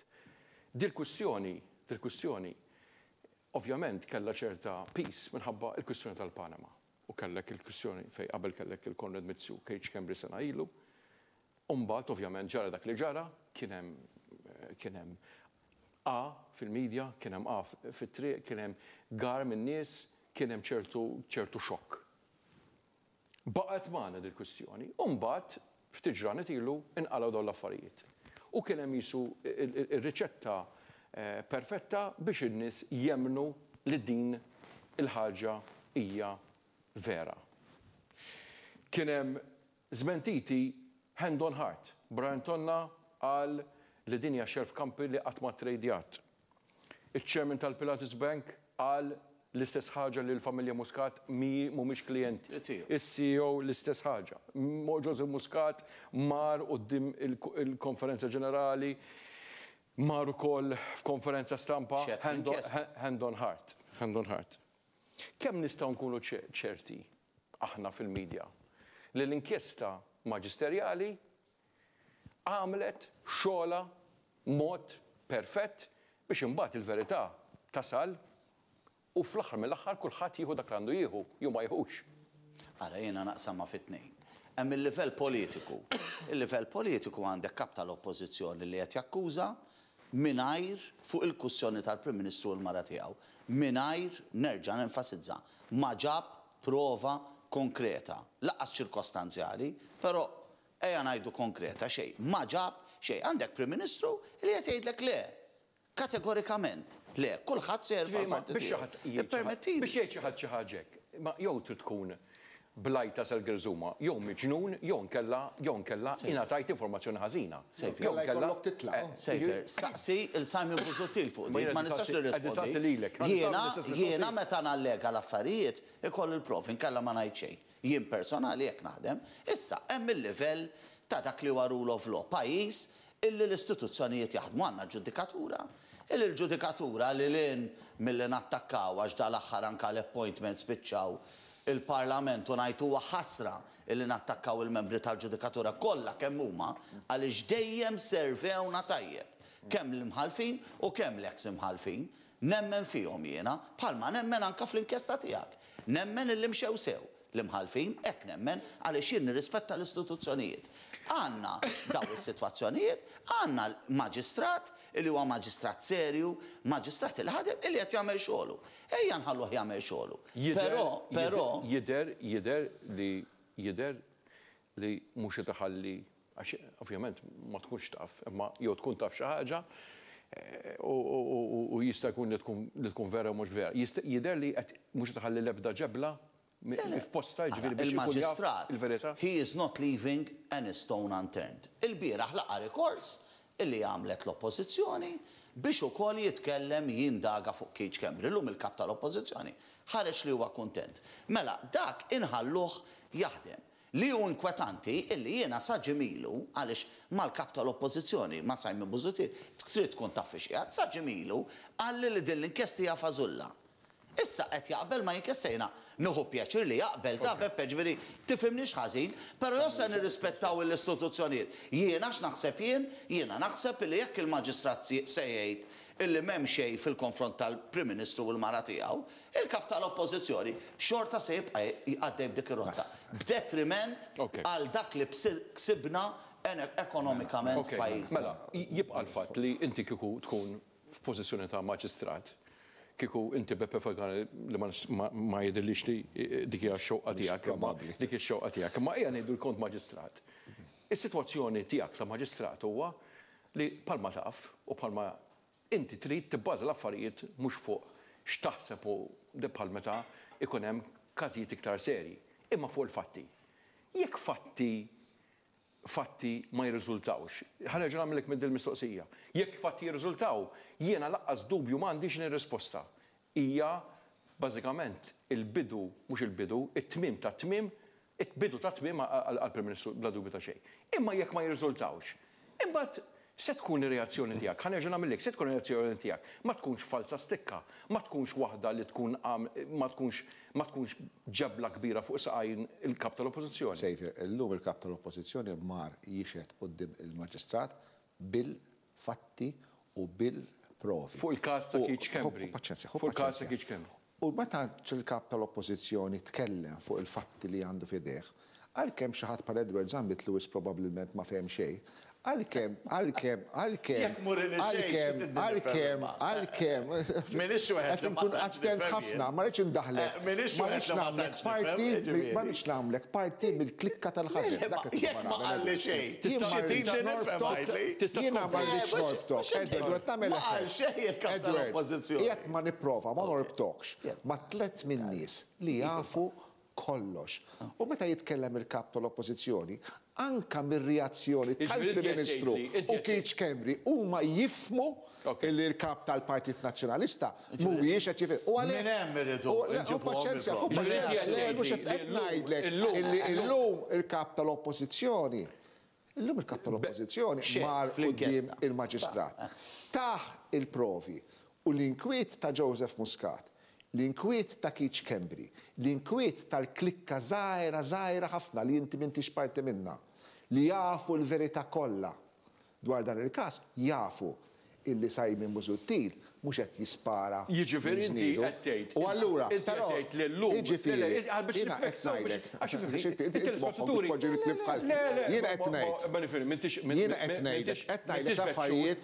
Dil-kwistjoni, dil-kwistjoni ovvjament kellha ċerta peace minħabba l-kwistjoni tal-Panama u kellek il-kwistjoni fejn qabel kellek il-Konrad Mizzi u Keith Schembri sena ilu. Umbagħad ovvjament ġara dak li ġara, kien hemm kien hemm A fil-medja, kien hemm A fit-triq, kien hemm gar min-nies, kien hemm ċertu ċertu xokk. Baqgħet magħna dil-kwistjoni, u mbagħad ftit ġranet ilu inqalgħu dawn l-affarijiet. U kien hemm jisu ir-riċetta perfetta biex in-nies jemnu li din il-ħaġa hija vera. Kien hemm żmentiti hand on heart. Brian Tonna qal li din hija shelf company li qatt ma trejdjat. Il-chairman tal-Pilatus Bank qal l-istess ħaġa li l-familja Muscat mhumiex klijenti. Is-C E O l-istess ħaġa. Joseph Muscat mar quddiem il-konferenza ġenerali, mar ukoll f'konferenza stampa, hand on heart. Hand on heart. Kemm nistgħu nkunu ċerti aħna fil-medja li l-inkjesta maġisterjali għamlet xogħla mod perfett biex imbagħad il-verità tasal u fl-aħħar mill-aħħar kulħadd jieħu dak li għandu jieħu, jew ma jieħux. Ara, jiena naqsamha fi tnejn. Hemm il-livell politiku. Il-livell politiku għandek kap tal-oppożizzjoni li qed jakkuża mingħajr fuq il-kwistjoni tal-Prim Ministru u l-mara tiegħu. Mingħajr, nerġa' nenfasizza, ma ġab prova konkreta, lanqas ċirkostanzjali, però ejja ngħidu konkreta xejn. Ma ġab xejn. Għandek Prim Ministru li qed jgħidlek le. Kategorikament, le, kulħadd se jerfa' l-parti tiegħu. Ippermettili. Biex jgħid xi ħadd xi ħaġa hekk, ma jew trid tkun blajta sal-gerżuma, jew miġnun, jew nkella, jew nkella ingħatajt informazzjoni ħażina. Jew nkella Sejfer, saqsi il-Simon Busuttil fuq din, ma nistax nirrispondi. Jiena, jiena meta nallega l-affarijiet ikoll il-profi, nkella ma ngħid xejn. Jien personali jekk naħdem, issa hemm il-livell ta' dak li huwa rule of law, pajjiż illi l-istituzzjonijiet jaħdmu. Għandna ġudikatura, illi l-ġudikatura li lin milli nattakkaw għax dal-aħħar anka l-appointment spiċċaw il-Parlament u ngħidu huwa ħasra illi nattakkaw il-membri tal-ġudikatura kollha kemm huma għaliex dejjem servewna tajjeb. Kemm l-imħalfin u kemm l-eks imħalfin, nemmen fihom jiena, bħalma nemmen anka fl-inkjesta tiegħek. Nemmen illi mxew sew l-imħalfin, hekk nemmen għaliex jien nirrispetta l-istituzzjonijiet. Għandna daw is-sitwazzjonijiet, għandna l-maġistrat illi huwa maġistrat serju, maġistrat li ħadem illi qed jagħmel xogħlu. Ejja nħalluh jagħmel xogħlu. Però, però jidher, jidher li jidher li mhux qed iħalli, għax ovvjament ma tkunx taf, imma jew tkun taf xi ħaġa u jista' jkun li tkun vera u mhux vera. Jidher li qed mhux qed iħalli l-ebda ġebla f'posta, ġifieri biex ikun jaf il-verità. He is not leaving any stone unturned. Il-bieraħ laqa rikors illi għamlet l-oppożizzjoni biex ukoll jitkellem jindaga fuq Keith Schembri. Illum il-kap tal-oppożizzjoni ħareġ li huwa kuntent. Mela dak inħalluh jaħdem. Li hu inkwetanti illi jiena sa ġimilu, għaliex mal-kap tal-oppożizzjoni, ma' Simon Busuttil, trid tkun taf fiex qiegħed, sa ġimilu qalli li din l-inkjesta hija fażulla. Issa qed jaqbel ma jinkjesta jiena nieħu pjaċir li jaqbel ta' Beppe, ġifieri tifhimniex ħażin, però jew se nirrispettaw l-istituzzjonijiet. Jiena x'naħseb jien, jiena naħseb li jekk il-maġistrat se jgħid illi m'hemm xejn fil-konfront tal-Prim Ministru u l-mara tiegħu, il-kap tal-Oppożizzjoni xorta se jibqa' għaddej b'dik ir-rotta. B'detriment għal dak li ksibna ekonomikament f'pajjiżna. Mela, jibqa' l-fatt li inti kieku tkun f'pożizzjoni ta' maġistrat, kieku inti Beppe Fagana li ma jidhirlix li dik hija x-xewqa tiegħek, dik ix-xewqa tiegħek, imma ejja ngħidu l-kont maġistrat. Is-sitwazzjoni tiegħek ta' maġistrat huwa li palma taf u palma inti trid tibbaża l-affarijiet mhux fuq x'taħseb u bħal meta ikun hemm każijiet iktar serji, imma fuq il-fatti. Jekk fatti fatti ma jirriżultawx, ħa nerġa' nagħmlek minn dil-mistoqsija. Jekk fatti jirriżultaw, jiena laqqas dubju m'għandix nirrisposta. Hija bażikament il-bidu, mhux il-bidu, it-tmiem ta' tmiem, it-bidu ta' tmiem għall-Prim Ministru bla dubju ta' xejn. Imma jekk ma jirriżultawx, imbagħad se tkun ir-reazzjoni tiegħek, ħa nerġa' nagħmellek, se tkun ir-reazzjoni tiegħek, ma tkunx falsa stikka, ma tkunx waħda li tkun ma tkunx ma tkunx ġebla kbira fuq saqajn il-kap tal-Oppożizzjoni. Sejfer, illum il-kap tal-Oppożizzjoni mar jixhed quddiem il-Maġistrat bil-fatti u bil-provi. Fuq il-każ ta' Keith Schembri. Paċenzja, Fuq il-każ ta' Keith Schembri. U meta il-kap tal-Oppożizzjoni tkellem fuq il-fatti li għandu f'idejh, għalkemm xi ħadd bħal Edward Zammit Lewis probabbilment ma fehem xejn, għalkemm, għalkemm, għalkemm, Jekk murini xejn, għalkemm, xi tiddi għalkemm, nifhem? għalkemm. Minix wieħed Qed li ma nkun tantx attent nifhem ħafna, jien. ma rridx indaħlek. Eh, minix Ma wieħed rridx li ma nagħmlek tantx parti nifhem, mill- ma jiġifieri. rridx nagħmlek parti mill-klikka tal-ħażin. Le, Dak qed jekk ma nagħmel, qalli Edward. xejn. Jien ma Xi rridx trid nifhem norbtok. għidli? Tista' Jiena ma tkompli. rridx Eh, mhux- norbtok. mhux Edward, qed nagħmel Ma qal effett. xejn il-kap Edward, tal-Oppożizzjoni. Jekk ma nipprova ma norbtokx ma tliet min-nies li jafu kollox. U meta jitkellem il-kap tal-Oppożizzjoni, anka mir-reazzjoni Jiġifieri tal-Prim inti qed Ministru tgħidli, inti u qed Keith Schembri huma jifmu Ok. illi l-kap tal-Partit Nazzjonalista mhuwiex qed jifhem. U għalhekk Minn hemm iridu u le, u nġibuhom paċenzja, u il-problemi. paċenzja, Jiġifieri le, inti mhux qed qed tgħidli ngħidlek illum- illi illum il-kap tal-Oppożizzjoni Illum il-kap tal-Oppożizzjoni Xed mar quddiem fl-inkjesta. il-Maġistrat. Tah il-provi u l-inkwiet ta' Joseph Muscat, l-inkwiet ta' Keith Schembri, l-inkwiet tal-klikka żgħira żgħira ħafna li inti m'intix parti minna, li jafu l-verità kollha dwar dan il-każ, jafu illi Simon Busuttil mhux qed jispara. Jiġifieri inti qed tgħid. U allura, però jiġifieri jiena qed ngħidlek. It-telespettaturi. Jiena qed ngħid. Jiena qed ngħidlek, qed ngħidlek affarijiet.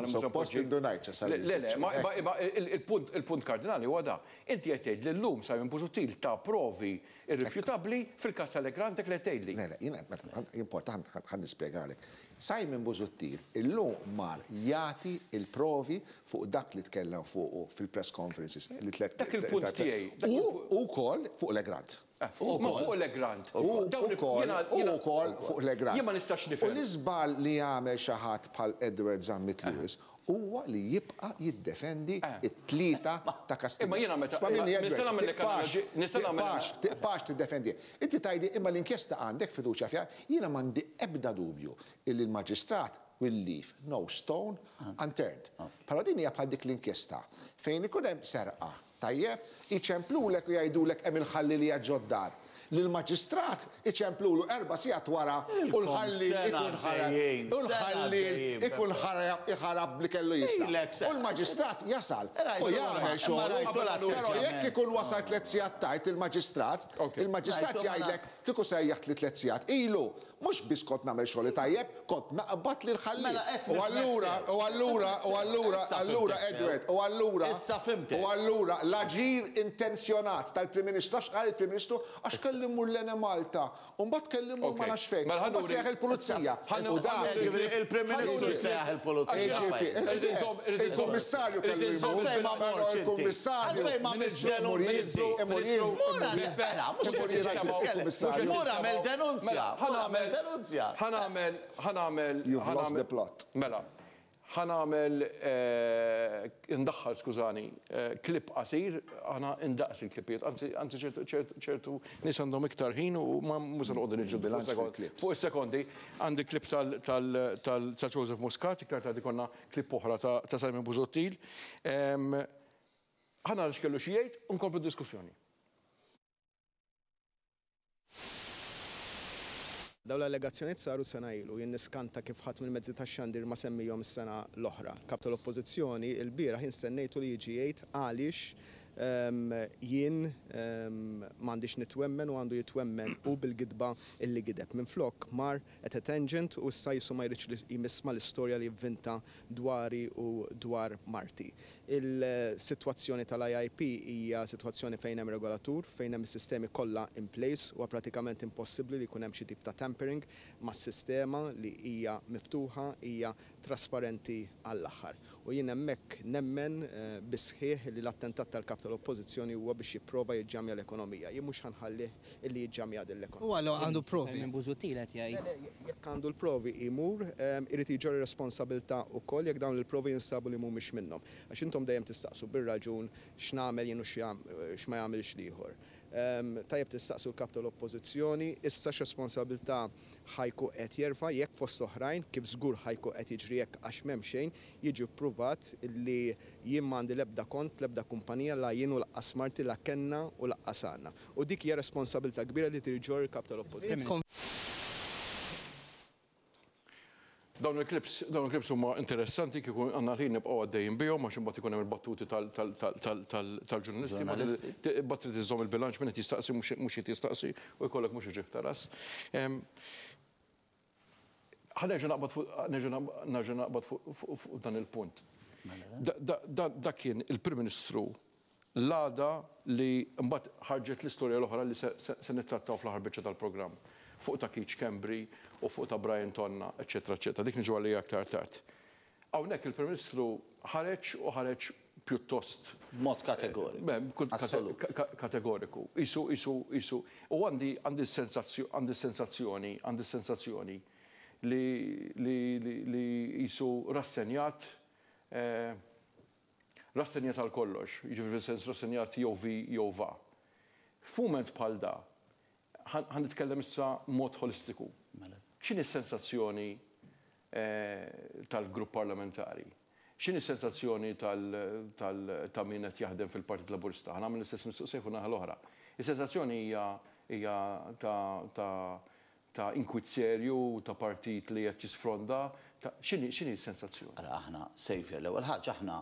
Suppost indunajt se sar. Le, le, ma il-punt kardinali huwa da. Inti qed tgħid li llum Simon Busuttil ta' provi irrifjutabbli fil-każ tal-Egrant li tgħidli. Le, le, jiena importa ħa nispjegalek. Simon Busuttil illum mar jagħti il-provi fuq dak li tkellem fuqu fil-press conferences li tlet. Dak il-punt tiegħi. U wkoll fuq l-Egrant. Ma fuq l-Egrant. U wkoll fuq l-Egrant. Jien ma nistax nifhem. U l-iżball li jagħmel xi ħadd bħal Edward Zammit Lewis huwa li jibqa' jiddefendi it-tlieta ta' Kastilja. Imma jiena meta nista' nagħmel tiqpax tiddefendi. Inti tgħidli imma l-inkjesta għandek fiduċja fiha, jiena m'għandi ebda dubju illi l-maġistrat will leave no stone unturned. Però din hija bħal dik l-inkjesta fejn ikun hemm serqa, tajjeb, iċemplulek u jgħidulek hemm il-ħalli li ġod-dar. L-maġistrat iċemplulu erba' sigħat wara u l-ħalli ikun ħarab u l-ħalli ikun ħarab li kellu jisla. U l-maġistrat jasal u jagħmel xogħol. Però jekk ikun wasal tliet sigħat tard il-maġistrat, il-maġistrat jgħidlek kieku sejjaħt li tliet sigħat ilu, mhux biss kont nagħmel xogħol tajjeb, kont naqbad lil ħalli. U allura, u allura, u allura, allura Edward, u allura, u allura l-aġir intenzjonat tal-Prim Ministru, għax qal il-Prim Ministru għax kellu immur l-Enemalta, u mbagħad kellimu ma nafx fejn, mbagħad sejjaħ il-pulizija. Il-Prim Ministru sejjaħ il-pulizija. Il-Kummissarju kellu jmur. Għalfejn ma morx inti. Għalfejn ma għamilx denunzja inti. Mur għamel denunzja. Mur għamel denunzja. Ħa nagħmel, ħa nagħmel. You've lost the plot. Mela, ħa nagħmel, ndaħħal, skużani, klip qasir, għana indaqs il-klipijiet, anzi ċertu nies għandhom iktar ħin u ma mhux se noqogħdu niġġieldu fuq is-sekondi. Għandi klip ta' Joseph Muscat, iktar tard ikollna klip oħra ta' Simon Busuttil. Ħa nara x'kellu xi jgħid u nkomplu d-diskussjoni. Dawn l-allegazzjonijiet saru sena ilu, jien niskanta kif ħadd mill-mezzi tax-xandir ma semmihom is-sena l-oħra. Kap tal-Oppożizzjoni il-bieraħ jien stennejtu li jiġi jgħid għaliex jien m'għandix nitwemmen u għandu jitwemmen u bil-gidba illi gideb. Minflok mar at a tangent u issa jisu ma jridx li jmisma l-istorja li jivvinta dwari u dwar marti. Il-sitwazzjoni tal-I I P hija sitwazzjoni fejn hemm regolatur, fejn hemm is-sistemi kollha in place, huwa pratikament impossibbli li jkun hemm xi tip ta' tampering mas-sistema li hija miftuħa, hija trasparenti għall-aħħar. U jien hemmhekk nemmen bisħieħ li l-attentat tal-kap tal-Oppożizzjoni huwa biex jipprova jiġġamja l-ekonomija. Jien mhux ħanħallih illi jiġġamja din l-ekonomija. U għallu għandu provi. Minn Busuttil qed jgħid. Jekk għandu l-provi imur, irid jiġori responsabilità wkoll jekk dawn il-provi jinsabu li mhumiex minnhom. Għax intom dejjem tistaqsu bir-raġun x'nagħmel jien u x'ma jagħmilx l-ieħor. Tajjeb tistaqsu l-kap tal-Oppożizzjoni issa x'responsabilità ħajku qed jerfa' jekk fost oħrajn kif żgur ħajku qed jiġri jekk għax m'hemm xejn jiġi ppruvat li jien m'għandi l-ebda kont, l-ebda kumpanija la jien u laqqas marti la kenna u laqqas għandna. U dik hija responsabilità kbira li trid ġorr il-kap tal-Oppożizzjoni. Dawn il-klips, dawn il-klips huma interessanti kieku għandna ħin nibqgħu għaddejjin bihom għax imbagħad ikun hemm il-battuti tal-ġurnalisti, imbagħad trid iżżomm il-bilanċ min qed jistaqsi mhux qed jistaqsi u jkollok mhux iġih ta' ras. Ħa nerġa' naqbad fuq nerġa' naqbad fuq dan il-punt. Dak kien il-Prim Ministru l-għada li mbagħad ħarġet l-istorja l-oħra li se nittrattaw fl-aħħar biċċa tal-programm. Fuq ta' Keith Schembri u fuq ta' Brian Tonna, eċetera, eċetera. Dik niġu għalija aktar tard. Hawnhekk il-Prim Ministru ħareġ u ħareġ pjuttost. Mod kategoriku. Kategoriku. Isu, isu, isu. U għandi għandi sensazzjoni, għandi sensazzjoni li li isu rassenjat, rassenjat għal kollox, jiġifieri fis-sens rassenjat jew vi jew va. F'mument bħal da, ħan nitkellem issa mod holistiku. X'inhi s-sensazzjoni tal-grupp parlamentari? X'inhi s-sensazzjoni ta' min qed jaħdem fil-Partit Laburista? Ħa nagħmel l-istess mistoqsija fuq naħa l-oħra. Is-sensazzjoni hija ta' inkwiet serju, ta' partit li qed jisfronda, X'inhi s-sensazzjoni? Ara aħna, Saviour, l-ewwel ħaġa aħna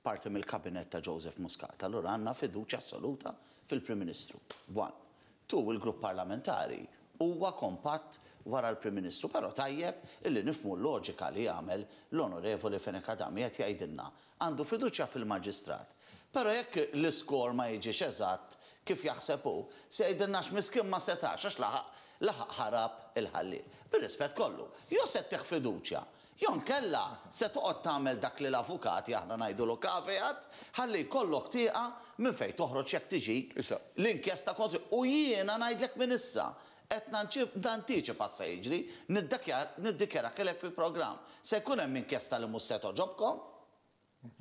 parti mill-kabinet ta' Joseph Muscat, allura għandna fiduċja assoluta fil-Prim Ministru. One. Two, il-grupp parlamentari huwa kompatt wara l-Prim Ministru, però tajjeb illi nifhmu l-loġika li jagħmel l-Onorevoli Fenech Adami qed jgħidilna għandu fiduċja fil-Maġistrat. Però jekk l-iskor ma jiġix eżatt kif jaħseb hu, se jgħidilna x'miskin ma setax għax laħaq laħaq ħarab il-ħalliel. Bir-rispett kollu, jew se ttih fiduċja, jew nkella se toqgħod tagħmel dak li l-avukati aħna ngħidulu caveat, ħalli jkollok tieqa minn fejn toħroġ jekk tiġik l-inkjesta kontra. U jiena ngħidlek minn issa, qed nantiċipa se jiġri, niddikjarakilek fil-programm. Se jkun hemm inkjesta li mhux se toġobkom,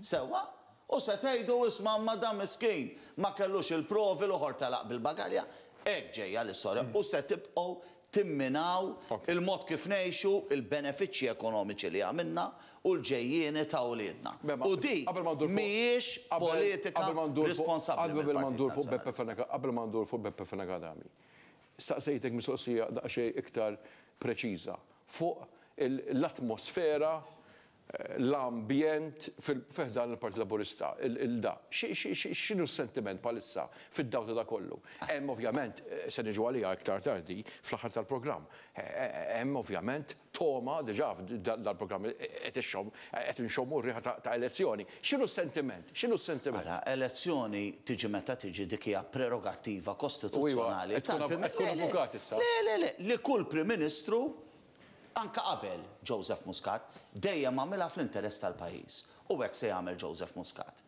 sewwa, u se tgħidu isma' ma dan miskin ma kellux il-provi l-oħor telaq bil-bagalja. Hekk ġejja l-istorja u se tibqgħu timminaw il-mod kif ngħixu, il-benefiċċji ekonomiċi li għamilna u l-ġejjieni ta' wliedna. U dik mhijiex politika responsabbli. Qabel ma ndur fuq Beppe Fenech, qabel ma ndur fuq Beppe Fenech Adami, staqsejtek mistoqsija daqsxejn iktar preċiża fuq l-atmosfera, l-ambjent fil-ħdan il-Partit Laburista, il-da. X'inhu s-sentiment bħalissa fid-dawl ta' kollu? Hemm ovvjament, se niġu għaliha iktar tardi fl-aħħar tal-programm, hemm ovvjament toma diġà dal-programm qed ixxomm, qed inxommu r-riħa ta' elezzjoni. X'inhu s-sentiment? X'inhu s-sentiment? Ara, elezzjoni tiġi meta tiġi dik hija prerogattiva kostituzzjonali. Qed tkun avukat issa. Le, le, le, li kull Prim Ministru anka qabel Joseph Muscat dejjem għamilha fl-interess tal-pajjiż. U hekk se jagħmel Joseph Muscat.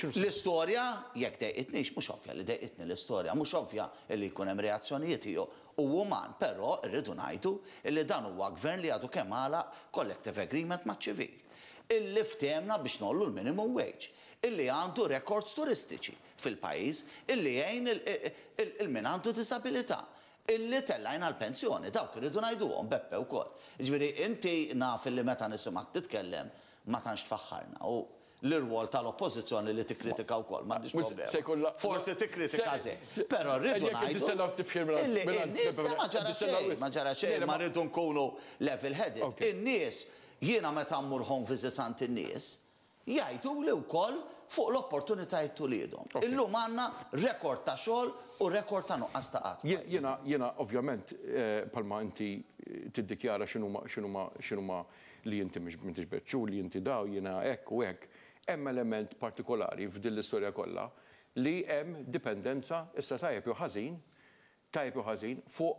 L-istorja, jekk dejqitnix, mhux ovvja li dejqitni l-istorja, mhux ovvja li jkun hemm reazzjonijiet u uman, però rridu ngħidu li dan huwa gvern li għadu kemm għalaq collective agreement maċ-ċivil. Illi ftehemna biex nollu l-minimum wage, illi għandu records turistiċi fil-pajjiż, illi jgħin il-min għandu disabilità, illi tellajna l-pensjoni, dawk irridu ngħiduhom Beppe wkoll. Jiġifieri inti naf illi meta nisimgħek titkellem ma tantx tfaħħarna u l-irwol tal-oppożizzjoni li tikkritika wkoll, m'għandix problema. Forsi tikkritika żejt, però rridu ngħidu illi n-nies ma ġara xejn, ma ġara xejn, ma rridu nkunu level-headed. In-nies, jiena meta mmur home visits għand in-nies, jgħidu li wkoll fuq l-opportunitajiet tuliedhom. Illum għandna rekord ta' xogħol u rekord ta' nuqqas ta' qatt. Jiena, jiena ovvjament palma inti tiddikjara x'inhuma x'inhuma x'inhuma li inti mhux m'intix beċċu, li inti daw, jiena hekk u hekk. Hemm element partikolari f'din l-istorja kollha li hemm dipendenza issa tajjeb jew ħażin, tajjeb jew ħażin fuq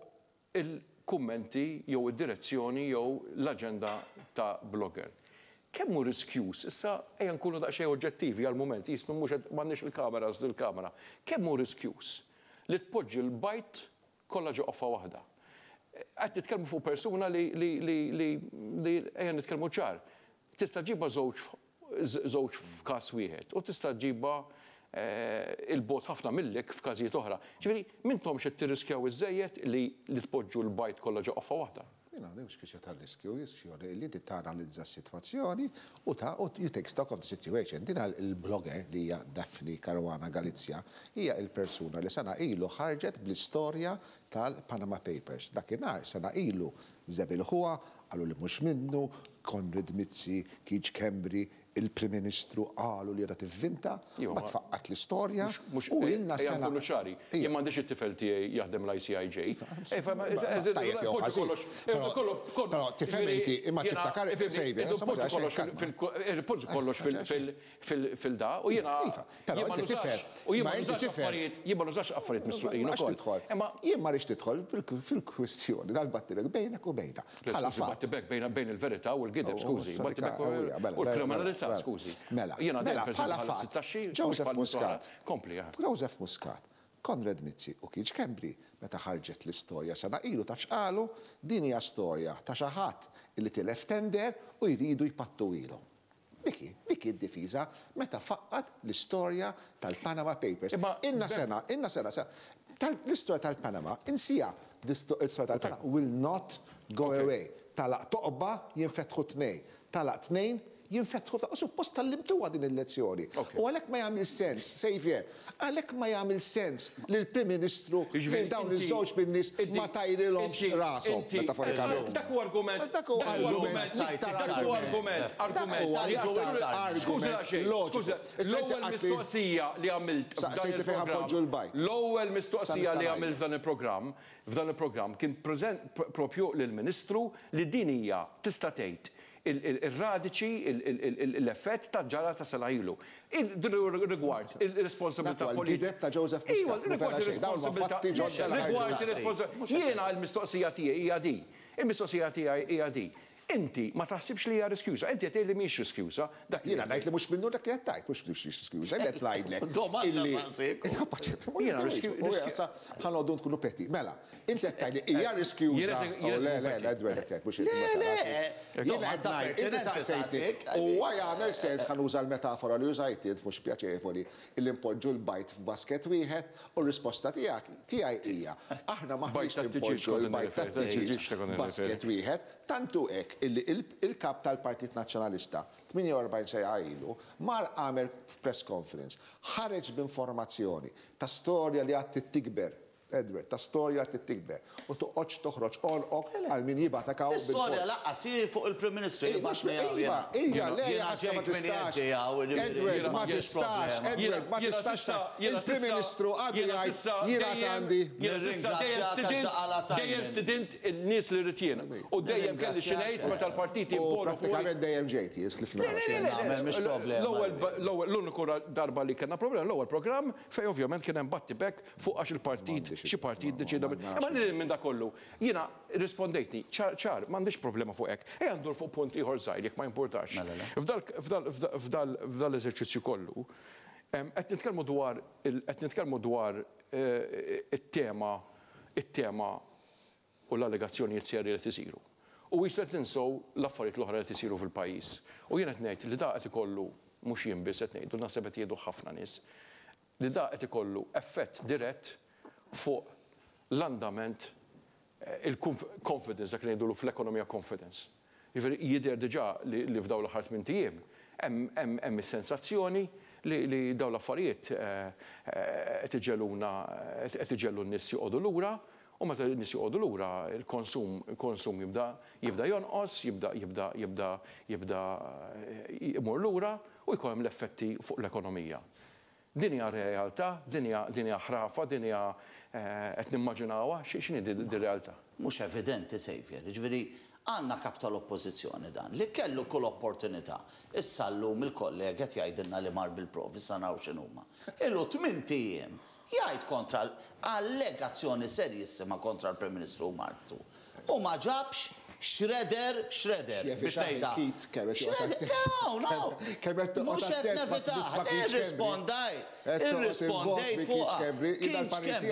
il-kummenti jew id-direzzjoni jew l-aġenda ta' blogger. Kemm hu riskjuż, issa ejja nkunu daqsxejn oġġettivi għal-mument, jismu mhux qed m'għandniex il-kameras dil-kamera. Kemm hu riskjuż li tpoġġi l-bajt kollha ġo qoffa waħda? Qed nitkellmu fuq persuna li li li li li ejja nitkellmu ċar. Tista' ġibha żewġ żewġ f'każ wieħed u tista' ġibha il-bot ħafna millek f'każijiet oħra. Ġifieri m'intomx qed tirriskjaw iżejjed li li tpoġġu l-bajt kollha ġo qoffa waħda. Jiena mhux kwistjoni tal-riskju, kwistjoni li inti tanalizza s-sitwazzjoni u ta' u you take stock of the situation. Din il-blogger li hija Daphne Caruana Galizia hija il-persuna li sena ilu ħarġet bl-istorja tal-Panama Papers. Dakinhar sena ilu żebilħuha, qalu li mhux minnu, Konrad Mizzi, Keith Schembri, il-Prim Ministru qalu li qiegħda tivvinta, ma tfaqqat l-istorja. U ilna sena. Nkunu ċari, jien m'għandix it-tifel tiegħi jaħdem l-I C I J. Però tifhem inti, imma tiftakar Poġġu kollox fil-da u jiena. Però inti tifhem. U jien ma nużax affarijiet, jien ma nużax affarijiet misruqin ukoll. Imma jien ma rridx tidħol fil-kwistjoni dal-battibek bejnek u bejna. Bħala fatt. Battibek bejn il-verità u l-gideb, skużi. Battibek u l-kriminalità. Skużi. Mela, mela, bħala fatt, Joseph Muscat, kompli, Joseph Muscat, Konrad Mizzi u Keith Schembri, meta ħarġet l-istorja sena ilu taf x'qalu, din hija storja ta' xi ħadd li tilef tender u jridu jpattu ilhom. Dik dik id-difiża meta faqqat l-istorja tal-Panama Papers. Inna sena, inna sena, l-istorja tal-Panama, insija l-istorja tal-Panama will not go away. Talaq toqba jinfetħu tnejn, talaq tnejn jinfetħu ta' suppost tgħallimtuha din il-lezzjoni. U għalhekk ma jagħmel sens, Xavier, għalhekk ma jagħmel sens li l-Prim Ministru lil dawn iż-żewġ min-nies ma tajrilhomx rashom, metaforikament. Dak huwa argument. Dak huwa argument. Dak huwa argument. Argument. Skuża xejn. Skuża. L-ewwel mistoqsija li għamilt f'dan il-programm. L-ewwel mistoqsija li għamilt f'dan il-programm, f'dan il-programm kien propju lill-Ministru li din hija tista' tgħid il-radiċi, l-effett ta' ġara ta' sena ilu. Rigward il-responsabilità politika. Ta' Joseph Muscat. Rigward il-responsabilità. Jiena l-mistoqsija tiegħi hija di. Il-mistoqsija tiegħi hija di. Inti ma taħsibx li hija riskjuża, inti qed tgħid li mhix riskjuża. Jiena ngħid li mhux minnu dak li qed tgħid, mhux mhux riskjuża, qed ngħidlek. Jiena riskjuża. Ħa noqogħdu nkunu peti. Mela, inti qed tgħid li hija riskjuża. Le, le, le, Edward qed jgħid mhux Le, le. Jiena qed ngħid, inti saqsejtni. Huwa jagħmel sens ħa nuża l-metafora li użajt int mhux pjaċevoli illi npoġġu l-bajd f'basket wieħed u r-risposta tiegħek tiegħi hija aħna m'aħniex npoġġu l-bajd tat-tiġieġ f'basket wieħed, tantu hekk illi il-kap tal-Partit Nazzjonalista tmienja u erbgħin sena ilu mar għamel press conference, ħareġ b'informazzjoni ta' storja li għad tikber, Edward, ta' storja għad tikber, u toqgħodx toħroġ għonqok għal min jibgħatek hawn bil-fors. L-istorja laqqas hi fuq il-Prim Ministru jibgħatni hawn Iva, iva, le, ma tistax. Edward, ma tistax, Edward, ma tistax. Il-Prim Ministru għadu jgħid jiena għandi. Dejjem stidint il-nies li rrid jien. U dejjem kelli xi ngħid meta l-partiti imponu fuq. Prattikament dejjem ġejt jien kif nagħmel mhix problema. L-ewwel l-uniku darba li kellna problema, l-ewwel programm fejn ovvjament kien hemm battibek fuq għax il-partit xi partit deċida. Imma lil minn da kollu, jiena rispondejtni, ċar, ċar, m'għandix problema fuq hekk. Ejja ndur fuq punt ieħor żgħir jekk ma importax. F'dal eżerċizzju kollu, qed nitkellmu dwar qed nitkellmu dwar it-tema it-tema u l-allegazzjonijiet serji li qed isiru. U jisu qed ninsew l-affarijiet l-oħra li qed isiru fil-pajjiż. U jien qed ngħid li da qed ikollu mhux jien biss qed ngħidu, naħseb qed jgħidu ħafna nies, li da qed ikollu effett dirett fuq l-andament, il-confidence, dak li ngħidulu fl-ekonomija confidence. Jiġifieri jidher diġà li f'dawn l-aħħar tmien ijiem hemm is-sensazzjoni li dawn l-affarijiet qed iġeluna qed iġellu n-nies joqogħdu lura, u meta n-nies joqogħdu lura il-konsum il-konsum jibda jibda jonqos, jibda jibda jibda jibda jmur lura u jkun hemm l-effetti fuq l-ekonomija. Din hija realtà, din hija din hija ħrafa, din hija qed nimmaġinawha, x'inhi din realtà? Mhux evidenti, Xavier, jiġifieri għandna kap tal-oppożizzjoni dan li kellu kull opportunità. Issa llum il-kollega qed jgħidilna li mar bil-provi, issa naraw x'inhuma. Ilu tmien ijiem jgħid kontra allegazzjoni serjissima kontra l-Prim Ministru martu. U ma ġabx shredder, shredder, biex ngħidha. Shredder, no, no. Mhux qed nevitah, irrispondaj. Irrispondejt fuqha. Keith Schembri,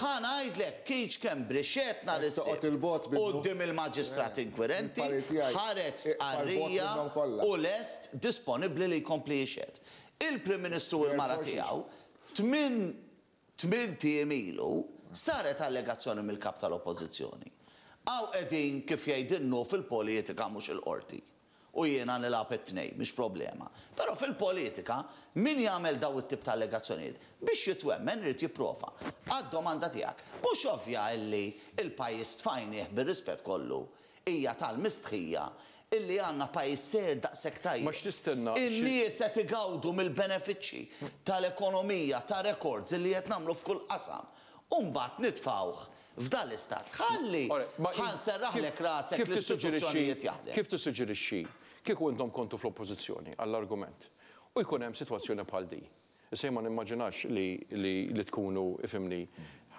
ħa ngħidlek, Keith Schembri xed nhar is-Sibt quddiem il-maġistrat inkwirenti, ħareġ stqarrija u lest disponibbli li jkompli jixhed. Il-Prim Ministru u l-mara tiegħu tmien tmien ijiem ilu saret allegazzjoni mill-kap tal-Oppożizzjoni. Għaw qegħdin kif jgħidinnu fil-politika mhux il-qorti. U jiena nilgħab it-tnejn, mhix problema. Però fil-politika min jagħmel daw it-tip ta' allegazzjonijiet biex jitwemmen irid jipprova. Għad-domanda tiegħek, mhux ovvja illi il-pajjiż tfajnieh bir-rispett kollu hija tal-mistħija illi għandna pajjiż ser daqshekk tajjeb. Ma x'tistenna? In-nies qed igawdu mill-benefiċċji tal-ekonomija, ta' records illi qed nagħmlu f'kull qasam. U mbagħad nitfgħuh f'dan l-istat. Ħalli ħanserraħlek rasek l-istituzzjonijiet jaħdem. Kif tissuġġerixxi kieku intom kontu fl-oppożizzjoni għall-argument u jkun hemm sitwazzjoni bħal di? Issa jien ma nimmaġinax li tkunu ifhimni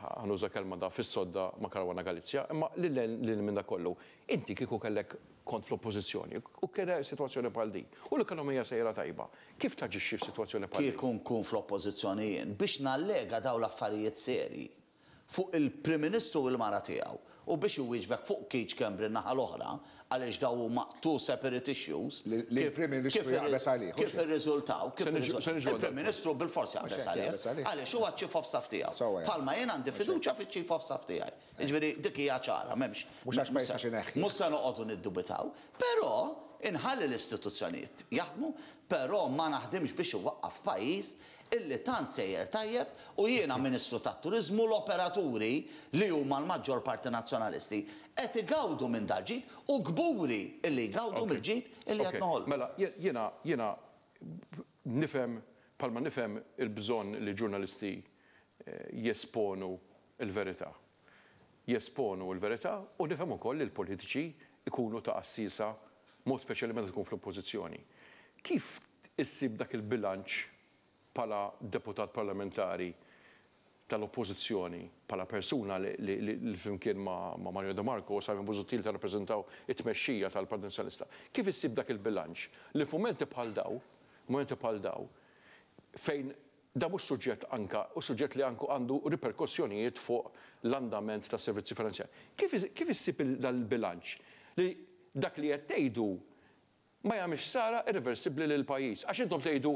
ħanuża kelma da fis-sodda ma' Caruana Galizia, imma lil minn da kollu. Inti kieku kellek kont fl-oppożizzjoni u kien sitwazzjoni bħal di u l-ekonomija sejra tajba. Kif taġixxi f'sitwazzjoni bħal di? Kieku nkun fl-oppożizzjoni jien biex nallega dawn l-affarijiet serji fuq il-Prim Ministru u l-mara tiegħu u biex iwieġbek fuq Keith Schembri naħa l-oħra għaliex daw huma two separate issues. Li l-Prim Ministru jaqbeż għalih. Kif irriżultaw, kif il-Prim Ministru bilfors jaqbeż għalih. Għaliex huwa ċ-Chief of Staff tiegħu. Bħalma jien għandi fiduċja fiċ-Chief of Staff tiegħi. Jiġifieri dik hija ċara, m'hemmx. Mhux għax ma jistax ineħħi. Mhux se noqogħdu niddubitaw, però inħalli l-istituzzjonijiet jaħdmu, però ma naħdimx biex iwaqqaf pajjiż illi tant sejjer tajjeb u jiena Ministru tat-Turiżmu l-operaturi li huma l-maġġor parti nazzjonalisti qed igawdu minn dal-ġid u kburi illi jgawdu mill-ġid illi qed noħolqu. Mela, jiena jiena nifhem bħalma nifhem il-bżonn li ġurnalisti jesponu l-verità. Jesponu l-verità u nifhem ukoll li l-politiċi ikunu ta' assisa mod speċjali meta tkun fl-oppożizzjoni. Kif issib dak il-bilanċ bħala deputat parlamentari tal-oppożizzjoni, bħala persuna li flimkien ma' Mario De Marco u Simon Busuttil tarrappreżentaw it-tmexxija tal-Partit Nazzjonalista. Kif issib dak il-bilanċ li f'mumenti bħal daw, mumenti bħal daw, fejn da mhux suġġett anka u suġġett li anku għandu riperkussjonijiet fuq l-andament tas servizzi finanzjarji. Kif issib dal-bilanċ li dak li qed tgħidu ma jagħmilx ħsara irreversibbli lil pajjiż? Għax intom tgħidu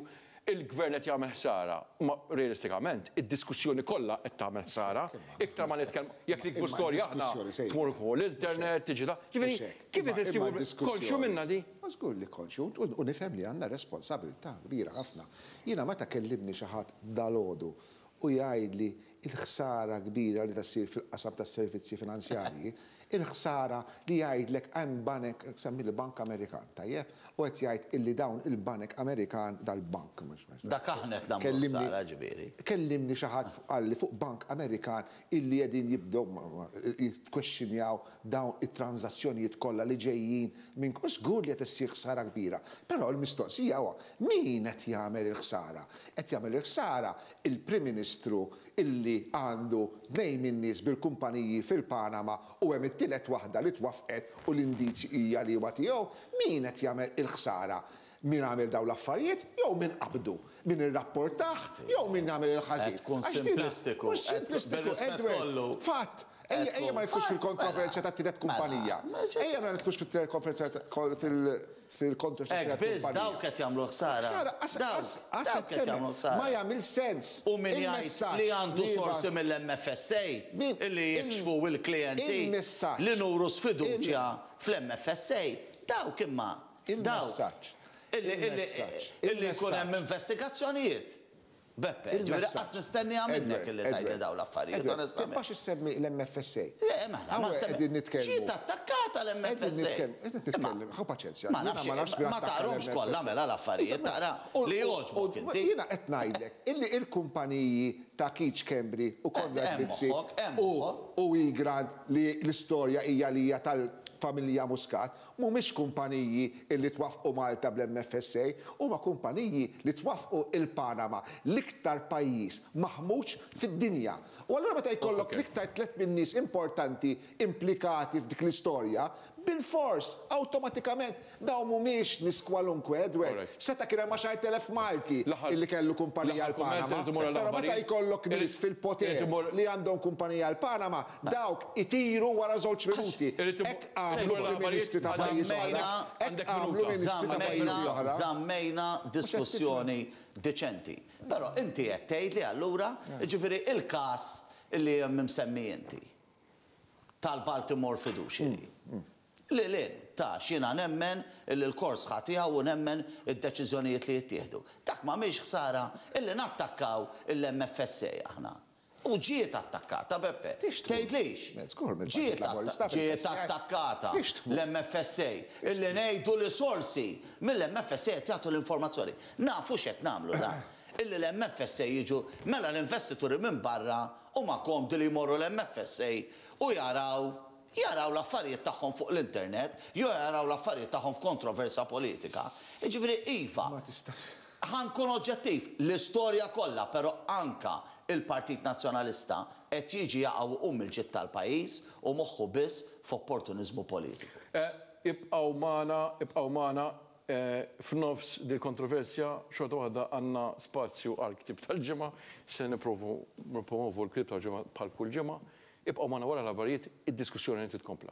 il-gvern qed jagħmel ħsara, ma realistikament id-diskussjoni kollha qed tagħmel ħsara, iktar ma nitkellmu jekk nikbu storja aħna tmur fuq l-internet tiġi ta' ġifieri kif qed issibu konxju minnha di? Ma żgur li konxju u nifhem li għandna responsabilità kbira ħafna. Jiena meta kellimni xi ħadd dalgħodu u jgħidli il-ħsara kbira li tassir fil-qasam tas-servizzi finanzjarji, il-ħsara li jgħidlek hemm banek, semmi l-Bank Amerikan, tajjeb, u qed jgħid illi dawn il-Banek Amerikan dal-bank. Dak aħna qed nagħmlu ħsara ġifieri. Kellimni xi ħadd qalli fuq Bank Amerikan illi qegħdin jibdew jitkwexxinjaw dawn it-transazzjonijiet kollha li ġejjin minn żgur li qed issir ħsara kbira. Però l-mistoqsija huwa min qed jagħmel il-ħsara? Qed jagħmel il-ħsara il-Prim Ministru illi għandu tnejn min-nies bil-kumpaniji fil-Panama u hemm it-tielet waħda li twaffqet u l-indizji hija li huwa tiegħu, min qed jagħmel il-ħsara? Min għamel dawn l-affarijiet jew min qabdu, min irrapportah jew min għamel il-ħażin. Tkun simplistiku. Simplistiku, fatt. Ejja ma jfux fil-kontroversja ta' tielet kumpanija. Ejja ma jfux fil-kontroversja fil-kontroversja. Hekk biss dawk qed jagħmlu ħsara. Dawk qed jagħmlu ħsara. Ma jagħmel sens. U min jgħid li għandu sorsi mill-M F S A illi jikxfu l-klijenti li nuru sfiduċja fl-M F S A. Dawk imma. Dawk. Illi jkun hemm investigazzjonijiet. Beppe, ġifieri qas nistennija minnek illi tgħidli dawn l-affarijiet, onestament. Tibqax issemmi l-M F S A. Le, mela, ma nsemmi. Ġiet attakkata l-M F S A. Qed nitkellem, ħu paċenzja. Ma nafx, ma taqromx kollha mela l-affarijiet, taqra li jogħġbok inti. Jiena qed ngħidlek illi l-kumpaniji ta' Keith Schembri u Konrad Mizzi u Egrant li l-istorja hija li hija tal-familja Muscat mhumiex kumpaniji illi twaffqu Malta bl-M F S A, huma kumpaniji li twaffqu il-Panama, l-iktar pajjiż maħmuġ fid-dinja. U allura meta jkollok l-iktar tliet min-nies importanti implikati f'dik l-istorja, bil-fors, awtomatikament, dawn mhumiex nies kwalunkwe, Edward. Seta' kien hemm għaxar telef Malti illi kellu kumpanija l-Panama. Però meta jkollok nies fil-poter li għandhom kumpanija l-Panama, dawk itiru wara żewġ minuti. Hekk għamlu ministri ta' pajjiż oħra. Hekk għamlu ministri ta' pajjiżi oħra. Żammejna diskussjoni deċenti. Però inti qed tgħidli allura, jiġifieri il-każ illi hemm imsemmi inti tal-Baltimore Fiduciary. Li lin, ta' xina nemmen illi l-kors ħatiha u nemmen id-deċiżjonijiet li jittieħdu. Dak ma mhix ħsara illi nattakkaw il-M F S A aħna. U ġiet attakkata, Beppe. Tgħidlix. Ġiet attakkata l-M F S A illi ngħidu li sorsi mill-M F S A qed jagħtu l-informazzjoni. Nafu x'qed nagħmlu da. Illi l-M F S A jiġu mela l-investituri minn barra huma komdi li jmorru l-M F S A u jaraw jaraw l-affarijiet tagħhom fuq l-internet, jew jaraw l-affarijiet tagħhom f'kontroversa politika. Jiġifieri iva, ħankun oġġettiv, l-istorja kollha, però anka il-Partit Nazzjonalista qed jiġi jaqgħu um il-ġid tal-pajjiż u moħħu biss f'opportuniżmu politiku. Ibqgħu magħna, ibqgħu magħna f'nofs dil-kontroversja xorta waħda għandna spazju għal ktieb tal-ġimgħa, se nipprovu nippromovu l-ktieb tal-ġimgħa bħal kull ġimgħa. Ibqgħu magħna wara l-aħbarijiet, id-diskussjoni titkompla.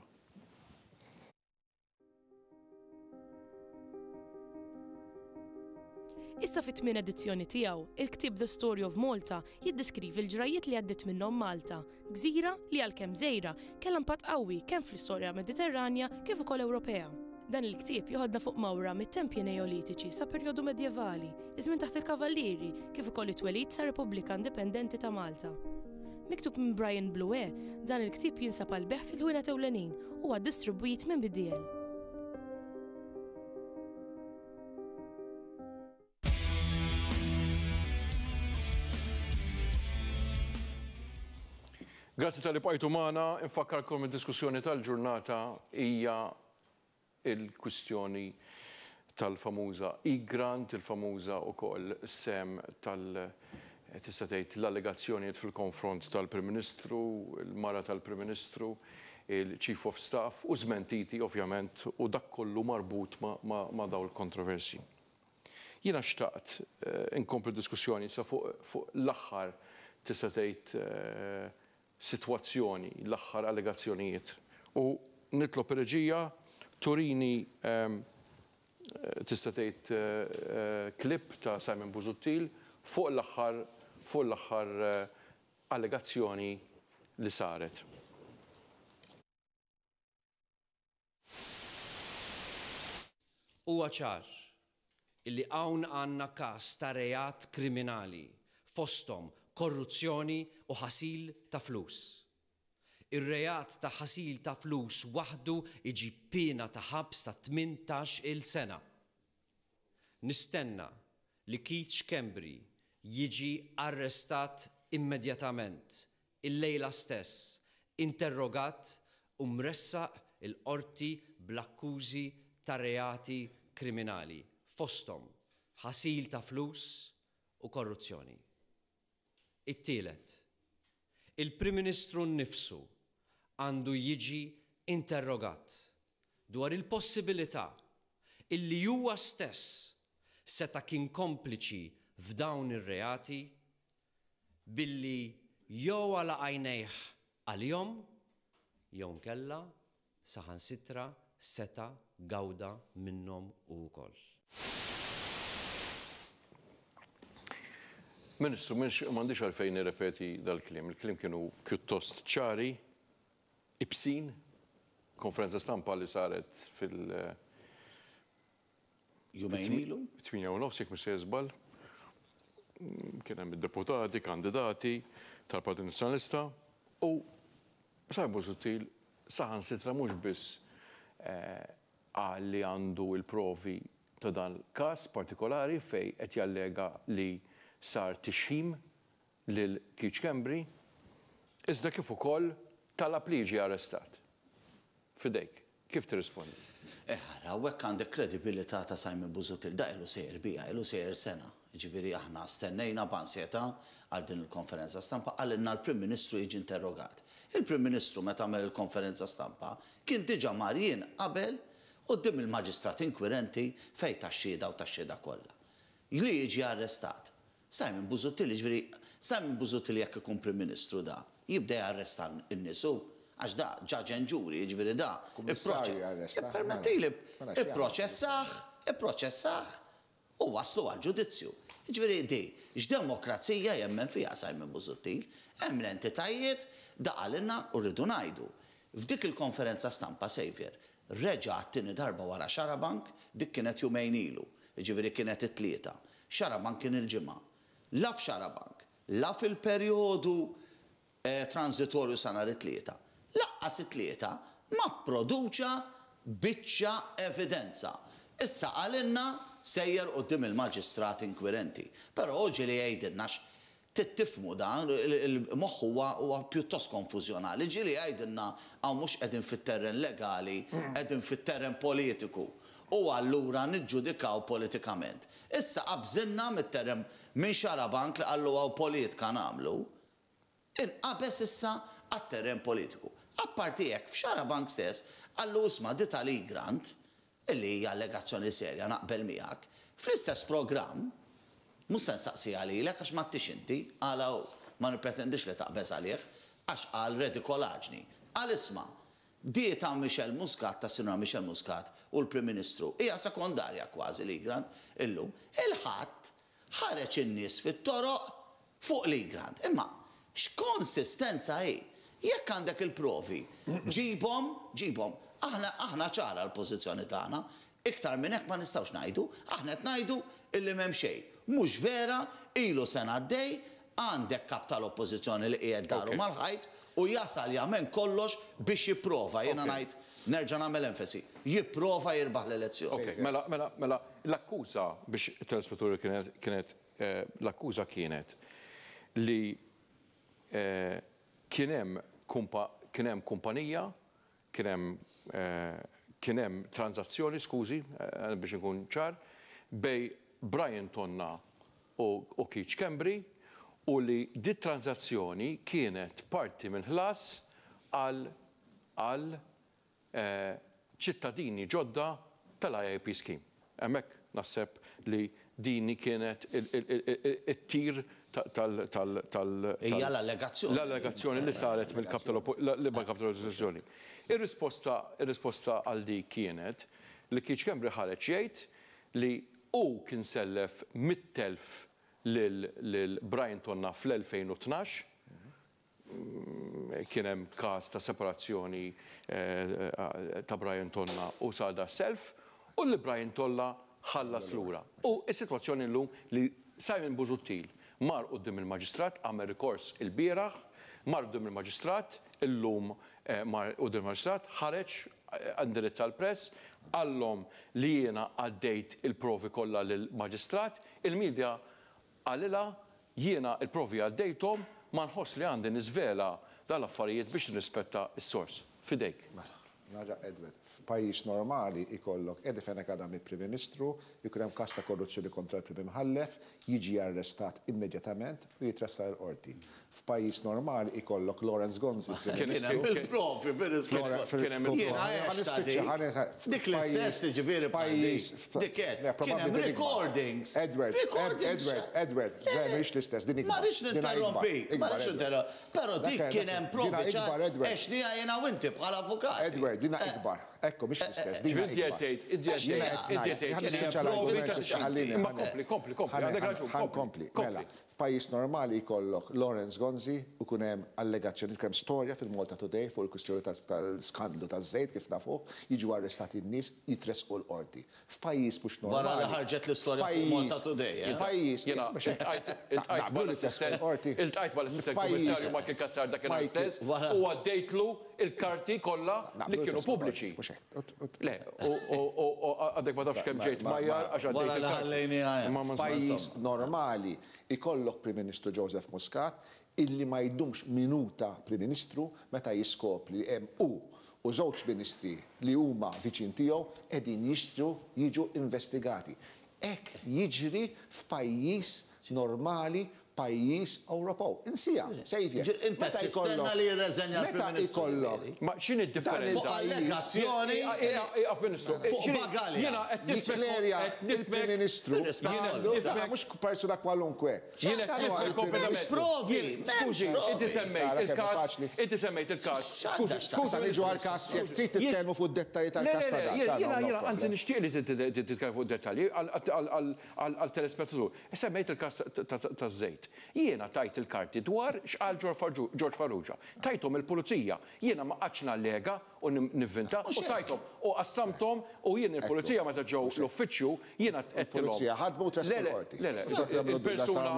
Issa fit-tmien edizzjoni tiegħu, il-ktieb The Story of Malta jiddeskrivi l-ġrajiet li għaddiet minnhom Malta, gżira li għalkemm żgħira kellha impatt qawwi kemm fl-istorja Mediterranja kif ukoll Ewropea. Dan il-ktieb joħodna fuq mawra mit-tempji neolitiċi sa perjodu medjevali, iż-żmien taħt il-Kavallieri, kif ukoll it-twelid sa Repubblika Indipendenti ta' Malta. Miktub minn Brian Blué, dan il-ktieb jinsab għall-bejgħ fil-ħwienet ewlenin u huwa distribwit minn B D L. Grazzi talli bqajtu magħna, infakkarkom id-diskussjoni tal-ġurnata hija il-kwistjoni tal-famuża Egrant, il-famuża ukoll sem tal- tista' tgħid l-allegazzjonijiet fil-konfront tal-Prim Ministru, il-mara tal-Prim Ministru, il-Chief of Staff u żmentiti ovvjament u dak kollu marbut ma', ma, ma daw il-kontroversi. Jiena xtaqt eh, inkompli diskussjoni sa fuq fu l-aħħar tista' tgħid eh, sitwazzjoni, l-aħħar allegazzjonijiet. U nitlob reġija turini ehm, tista' tgħid eh, klip ta' Simon Busuttil fuq l-aħħar fuq l-aħħar eh, allegazzjoni li saret. Huwa ċar illi hawn għandna każ ta' reat kriminali fosthom korruzzjoni u ħasil ta' flus. Ir-reat ta' ħasil ta' flus waħdu iġib piena ta' ħabs ta' tmintax il sena. Nistenna li Keith Schembri jiġi arrestat immedjatament, il-lejla stess, interrogat u mressaq il-qorti bl-akkużi ta' reati kriminali, fosthom ħasil ta' flus u korruzzjoni. It-tielet, il-Prim Ministru nnifsu għandu jiġi interrogat dwar il-possibilità illi huwa stess seta' kien kompliċi f'dawn ir-reati billi jew għalaq għajnejh għalihom jew nkella saħansitra seta' gawda minnhom ukoll. Ministru, m'għandix għalfejn nirrepeti dal-kliem. Il-kliem kienu pjuttost ċari, ibsin, konferenza stampa li saret fil- Jumejn ilu? Tmienja u nofs, jekk mhux se żball. Kien hemm id-deputati, kandidati tal-Partit Nazzjonalista u Simon Busuttil saħansitra mhux biss qal li għandu il-provi ta' dan każ partikolari fej qed jallega li sar tixħim lil Keith Schembri, iżda kif ukoll talab li jiġi arrestat. Fidejk, kif tirrispondi? Eh, hawnhekk għandek kredibilità ta' Simon Busuttil, da ilu sejjer bija, ilu sejjer sena. Ġifieri aħna stennejna b'ansjetà għal din il-konferenza stampa, qalilna l-Prim Ministru jiġi interrogat. Il-Prim Ministru meta għamel il-konferenza stampa kien diġà mar jien qabel quddiem il-maġistrat inkwirenti fej tax-xhieda u tax-xhieda kollha. Li jiġi arrestat. Simon Busuttil, ġifieri, Simon Busuttil jekk ikun Prim Ministru da, jibda jarresta n-nies, għax da judge and jury, ġifieri da. Kummissarju jarresta. Permettili, Mela, x'jagħmel? ipproċessah, ipproċessah u waslu għal ġudizzju. Ġifieri di, x'demokrazija jemmen fiha Simon Busuttil, hemm l-entitajiet da qalilna u rridu ngħidu. F'dik il-konferenza stampa Xavier, reġa' għat-tieni darba wara Xarabank, dik kienet jumejn ilu, ġifieri kienet it-Tlieta. Xarabank kien il-Ġimgħa. La f'Xarabank, la fil-perjodu eh, transitorju sa nhar it-Tlieta. Lanqas it-Tlieta ma produċa biċċa evidenza. Issa qalilna sejjer quddiem il-maġistrat inkwirenti. Però oġi li jgħidilna tifhmu dan, il-moħħ huwa huwa pjuttost konfużjonali. Ġieli jgħidilna hawn mhux qegħdin fit-terren legali, qegħdin fit-terren politiku. U allura niġġudikaw politikament. Issa qabżinna mit-terren minn Xarabank li qallu hawn politika nagħmlu, inqabeż issa għat-terren politiku. Apparti hekk f'Xarabank stess qallu isma' di tal-Egrant, illi hija allegazzjoni serja naqbel miegħek, fl-istess programm, mhux se nsaqsi għalilek għax ma tix inti, għala ma nipretendix li taqbeż għalih, għax qal redikolaġni. Qal isma' di ta' Michelle Muscat, ta' Sinjura Michelle Muscat u l-Prim Ministru, hija sekondarja kważi l-Egrant illum. Il-Ħadd ħareġ in-nies fit-toroq fuq l-Egrant. Imma x'konsistenza hi? Jekk għandek il-provi, ġibhom, ġibhom. Aħna aħna ċara l-pożizzjoni tagħna. Iktar minn hekk ma nistgħux ngħidu, aħna qed ngħidu illi m'hemm xejn. Mhux vera, ilu sena għaddej, għandek kap tal-oppożizzjoni li qiegħed daru mal-ħajt u jasal jagħmel kollox biex jipprova, jiena ngħid nerġa' nagħmel enfasi, jipprova jirbaħ l-elezzjoni. Mela, mela, mela, l-akkuża biex it-telespettaturi kienet kienet l-akkuża kienet li kien hemm kien hemm kumpanija, kien hemm kien hemm transazzjoni, skużi, biex inkun ċar, bej Brian Tonna u Keith Schembri, u li dit transazzjoni kienet parti minn ħlas għal ċittadini ġodda tal-I I P scheme. Hemmhekk naħseb li dini kienet it-tir tal- tal- Hija l-allegazzjoni. L-allegazzjoni li saret mill-kap tal-oppożizzjoni. Ir-risposta ir-risposta għal di kienet li Keith Schembri ħareġ jgħid li hu kien sellef mitt elf lil Brian Tonna fl-elfejn u tnax, kien hemm każ ta' separazzjoni ta' Brian Tonna u sar da self, u li Brian Tonna ħallas lura. U s-sitwazzjoni llum li Simon Busuttil mar quddiem il-maġistrat, għamel rikors il-bieraħ, mar quddiem il-maġistrat, illum mar quddiem il-maġistrat, ħareġ indirizza l-press, qallhom li jiena għaddejt il-provi kollha lill-maġistrat, il-medja qalilha jiena il-provi għaddejthom, ma nħoss li għandi niżvela dal-affarijiet biex nirrispetta s-sors. Fidejk. Mela, naġa Edward, f'pajjiż normali ikollok Eddie Fenech Adami Prim Ministru, jkun hemm każ ta' korruzzjoni kontra l-Prim Imħallef, jiġi arrestat immedjatament u jitressaq il-qorti. F'pajjiż normali ikollok Lawrence Gonzi. Kien hemm il-provi, kien hemm Dik l-istess ġifieri pajjiż. Dik kien hemm recordings. Edward, Edward, Edward, mhix l-istess, din Ma rridx ninterrompik, ma rridx ninterrompik. Però dik kien hemm provi ċar għexniha jiena u inti bħala avukat. Edward, dina ikbar. Ekku, mhix l-istess. Ġifieri Ma kompli, kompli, kompli, għandek raġun. Kompli, mela. F'pajjiż normali jkollok Lawrence Gonzi u kun hemm allegazzjoni, kemm storja fil-Malta Today fuq il-kwistjoni tal-skandlu taż-żejt kif nafuh, jiġu arrestati n-nies, jitresqu l-qorti. F'pajjiż mhux normali. Wara li ħarġet l-istorja fuq Malta Today. F'pajjiż. Iltqajt mal-assistent kummissarju Michael Cassar dakinhar stess u għaddejtlu il-karti kollha li kienu pubbliċi. Le, u għadek ma tafx kemm ġejt majjar għax għaddejt il-karti. F'pajjiż normali ikollok Prim Ministru Joseph Muscat illi ma jdumx minuta Prim Ministru meta jiskopri li hemm hu u żewġ ministri li huma viċin tiegħu qegħdin jixtru jiġu investigati. Hekk jiġri f'pajjiż normali, pajjiż Ewropew. Insija, Xavier. Inti tistenna li jirreżenja l-Prim Ministru. Ma x'inhi d-differenza? Fuq allegazzjoni. Fuq bagalja. Jiena qed Jikklerja il-Prim Ministru. Mhux persuna kwalunkwe. Jiena qed nifhem kompletament. Provi. Skużi, inti semmejt il-każ. Inti semmejt il-każ. Skużi, skużi. Niġu għall-każ jekk trid titkellmu fuq id-dettalji tal-każ ta' dan. Jiena jiena anzi nixtieq li titkellmu fuq id-dettalji għal-telespettatur. Semmejt il-każ taż-żejt. Jiena tajt il-karti dwar x'qal George Farrugia. Tajthom il-pulizija. Jiena ma qgħadx nallega u nivvinta u tajthom u qassamthom u jien il-pulizija meta ġew l-uffiċċju jiena qedtilhom. Il-pulizija ħadmu u tressqu l-qorti. Le, le, il-persuna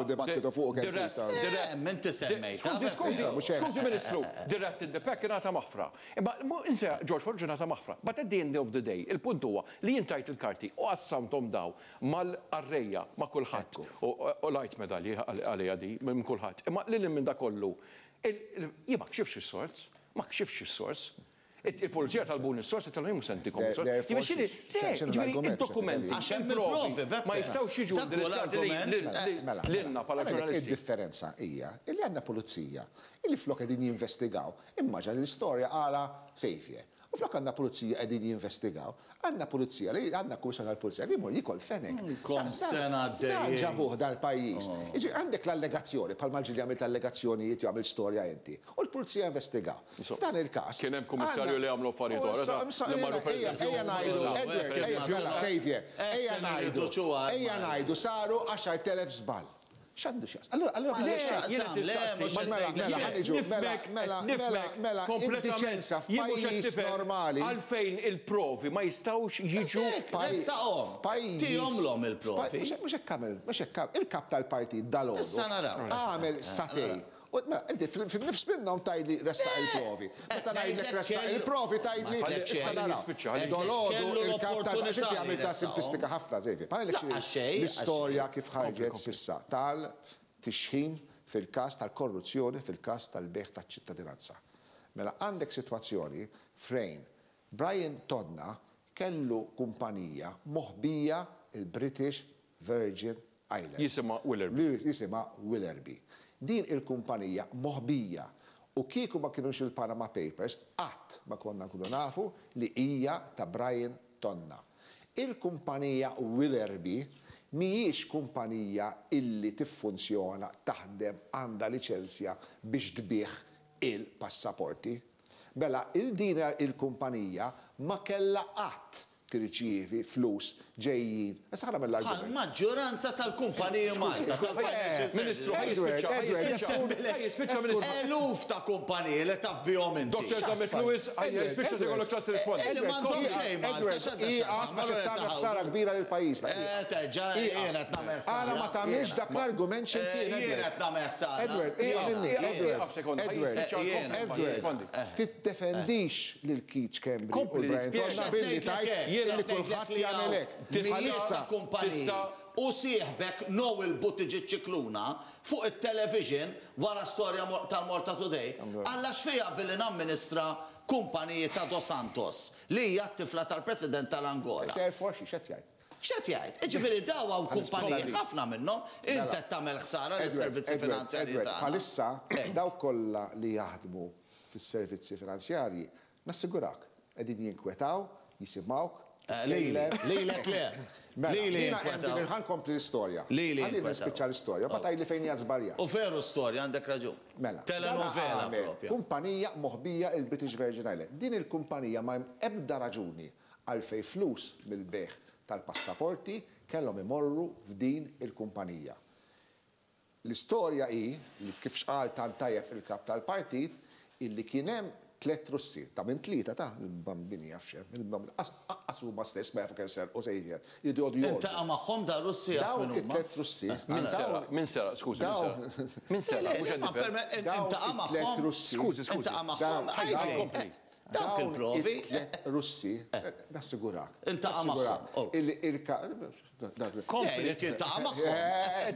Inti semmejt. Skużi, skużi, skużi Ministru, dirett in the pack ingħata maħfra. Imma insa George Farrugia ngħata maħfra. But at the end of the day, il-punt huwa li jien tajt il-karti u qassamthom daw mal-qarrejja ma' kulħadd. U lajt medalji għalija di minn kulħadd. Imma lil minn da kollu, jien ma kxifx is-sors, ma kxifx is-sors. Il-pulizija talbuni s-sors, tal mhux sentikom is-sors. Il-dokumenti, il-provi, ma jistgħux jiġu indirizzati lilna bħala ġurnalisti. Id-differenza hija illi għandna pulizija illi flok qegħdin jinvestigaw, immaġina l-istorja għala Xavier. U flok għandna pulizija qegħdin jinvestigaw, għandna pulizija li għandna kummissarju tal-pulizija li jmur jikol fenek. Kom sena Dan ġabuh dal-pajjiż. Jiġi għandek l-allegazzjoni, bħal ġieli għamilt allegazzjonijiet jew għamilt storja inti. U l-pulizija investigaw. F'dan il-każ. Kien hemm kummissarju li għamlu affarijiet oħra. Ejja ngħidu, Edward, ejja mela Xavier, ejja ngħidu, ejja ngħidu saru għaxar telef żball. X'għandu x'jaqsam? Allura, allura, mela, mela, ħa niġu, mela, mela, mela, mela, indiċenza f'pajjiż normali. Għalfejn il-provi ma jistgħux jiġu f'pajjiż. Tihomlhom il-provi. Mhux hekk għamel, mhux hekk għamel. Il-kap tal-partit dalgħodu. Issa naraw. Għamel satej. Mela, inti fil-nifs minnhom tgħidli ressaq il-provi. Meta ngħidlek ressaq il-provi tgħidli issa naraw. Dalgħodu il-kap tal-partit għamil ta' simplistika ħafna, l-istorja kif ħarġet s'issa tal-tixħim fil-każ tal-korruzzjoni, fil-każ tal-bejgħ taċ-ċittadinanza. Mela għandek sitwazzjoni fejn Brian Tonna kellu kumpanija moħbija il-British Virgin Islands. Jisimha Willerby. Jisimha Willerby. Din il-kumpanija moħbija u kieku ma kienux il-Panama Papers qatt ma konna nkunu nafu li hija ta' Brian Tonna. Il-kumpanija Willerby mhijiex kumpanija illi tiffunzjona, taħdem, għandha liċenzja biex tbigħ il-passaporti. Mela, il-din il-kumpanija ma kellha qatt tirċievi flus ġejjin. Issa ħa nagħmel l-argument. Maġġoranza tal-kumpaniji Malta, tal-financial Ministru, services. Eluf ta' kumpaniji li taf bihom inti. Doktor Zammit Lewis, jispiċċa se jkollok ċans tirrispondi. Li m'għandhom xejn Malta, x'għandha x'taqsam. Tagħmel ħsara kbira lil pajjiżna. Terġa' jien qed nagħmel ħsara. Għala ma tagħmilx dak l-argument x'imkien. Jien qed nagħmel ħsara. Edward, Edward, Edward, tiddefendix lil Keith Schembri u Brian Tonna billi tgħid li kulħadd jagħmel hekk. Bħalissa kumpaniji u sieħbek Noel Buttigieg Scicluna fuq it-television wara storja tal-Malta Today għalla xfija billi namministra kumpaniji ta' Dos Santos li hija t-tifla tal-President tal-Angola. Therefore, x'qed jgħid? X'qed jgħid? Jiġifieri daw hawn kumpaniji ħafna minnhom int qed tagħmel ħsara lis-servizzi finanzjarji tagħna. Bħalissa dawk kollha li jaħdmu fis-servizzi finanzjarji nassigurak qegħdin jinkwetaw, jisimgħuk. Lilek le. Lili ħa nkompli l-istorja. Lili. Ħalli nispiċċa l-istorja, ma tgħidli fejn hija żbaljat. U veru storja għandek raġun. Mela. Telenovela propja. Kumpanija moħbija il-British Virgin Islands. Din il-kumpanija ma hemm ebda raġuni għalfejn flus mill-bejgħ tal-passaporti kellhom imorru f'din il-kumpanija. L-istorja hi li kif xqal tant tajjeb il-kap tal-partit illi kien hemm tliet Russi, ta' minn tlieta ta' il-bambini jaf xem, il-bambini, huma stess ma jafu kemm serqu sejjer. Jridu jgħodu jgħodu. Intaqa' magħhom da Russi jaf Dawn min huma. it-tliet Russi. Min sera, min sera, skużi, min sera. Min sera, mhux qed nifhem. Intaqa' magħhom. Russi. Skużi, skużi. Intaqa' magħhom. Kompli. Dawk il-provi. It-tliet Russi, nasigurak. Intaqa' magħhom. Il-ka. Kompli. Jrid jiltaqa' magħhom.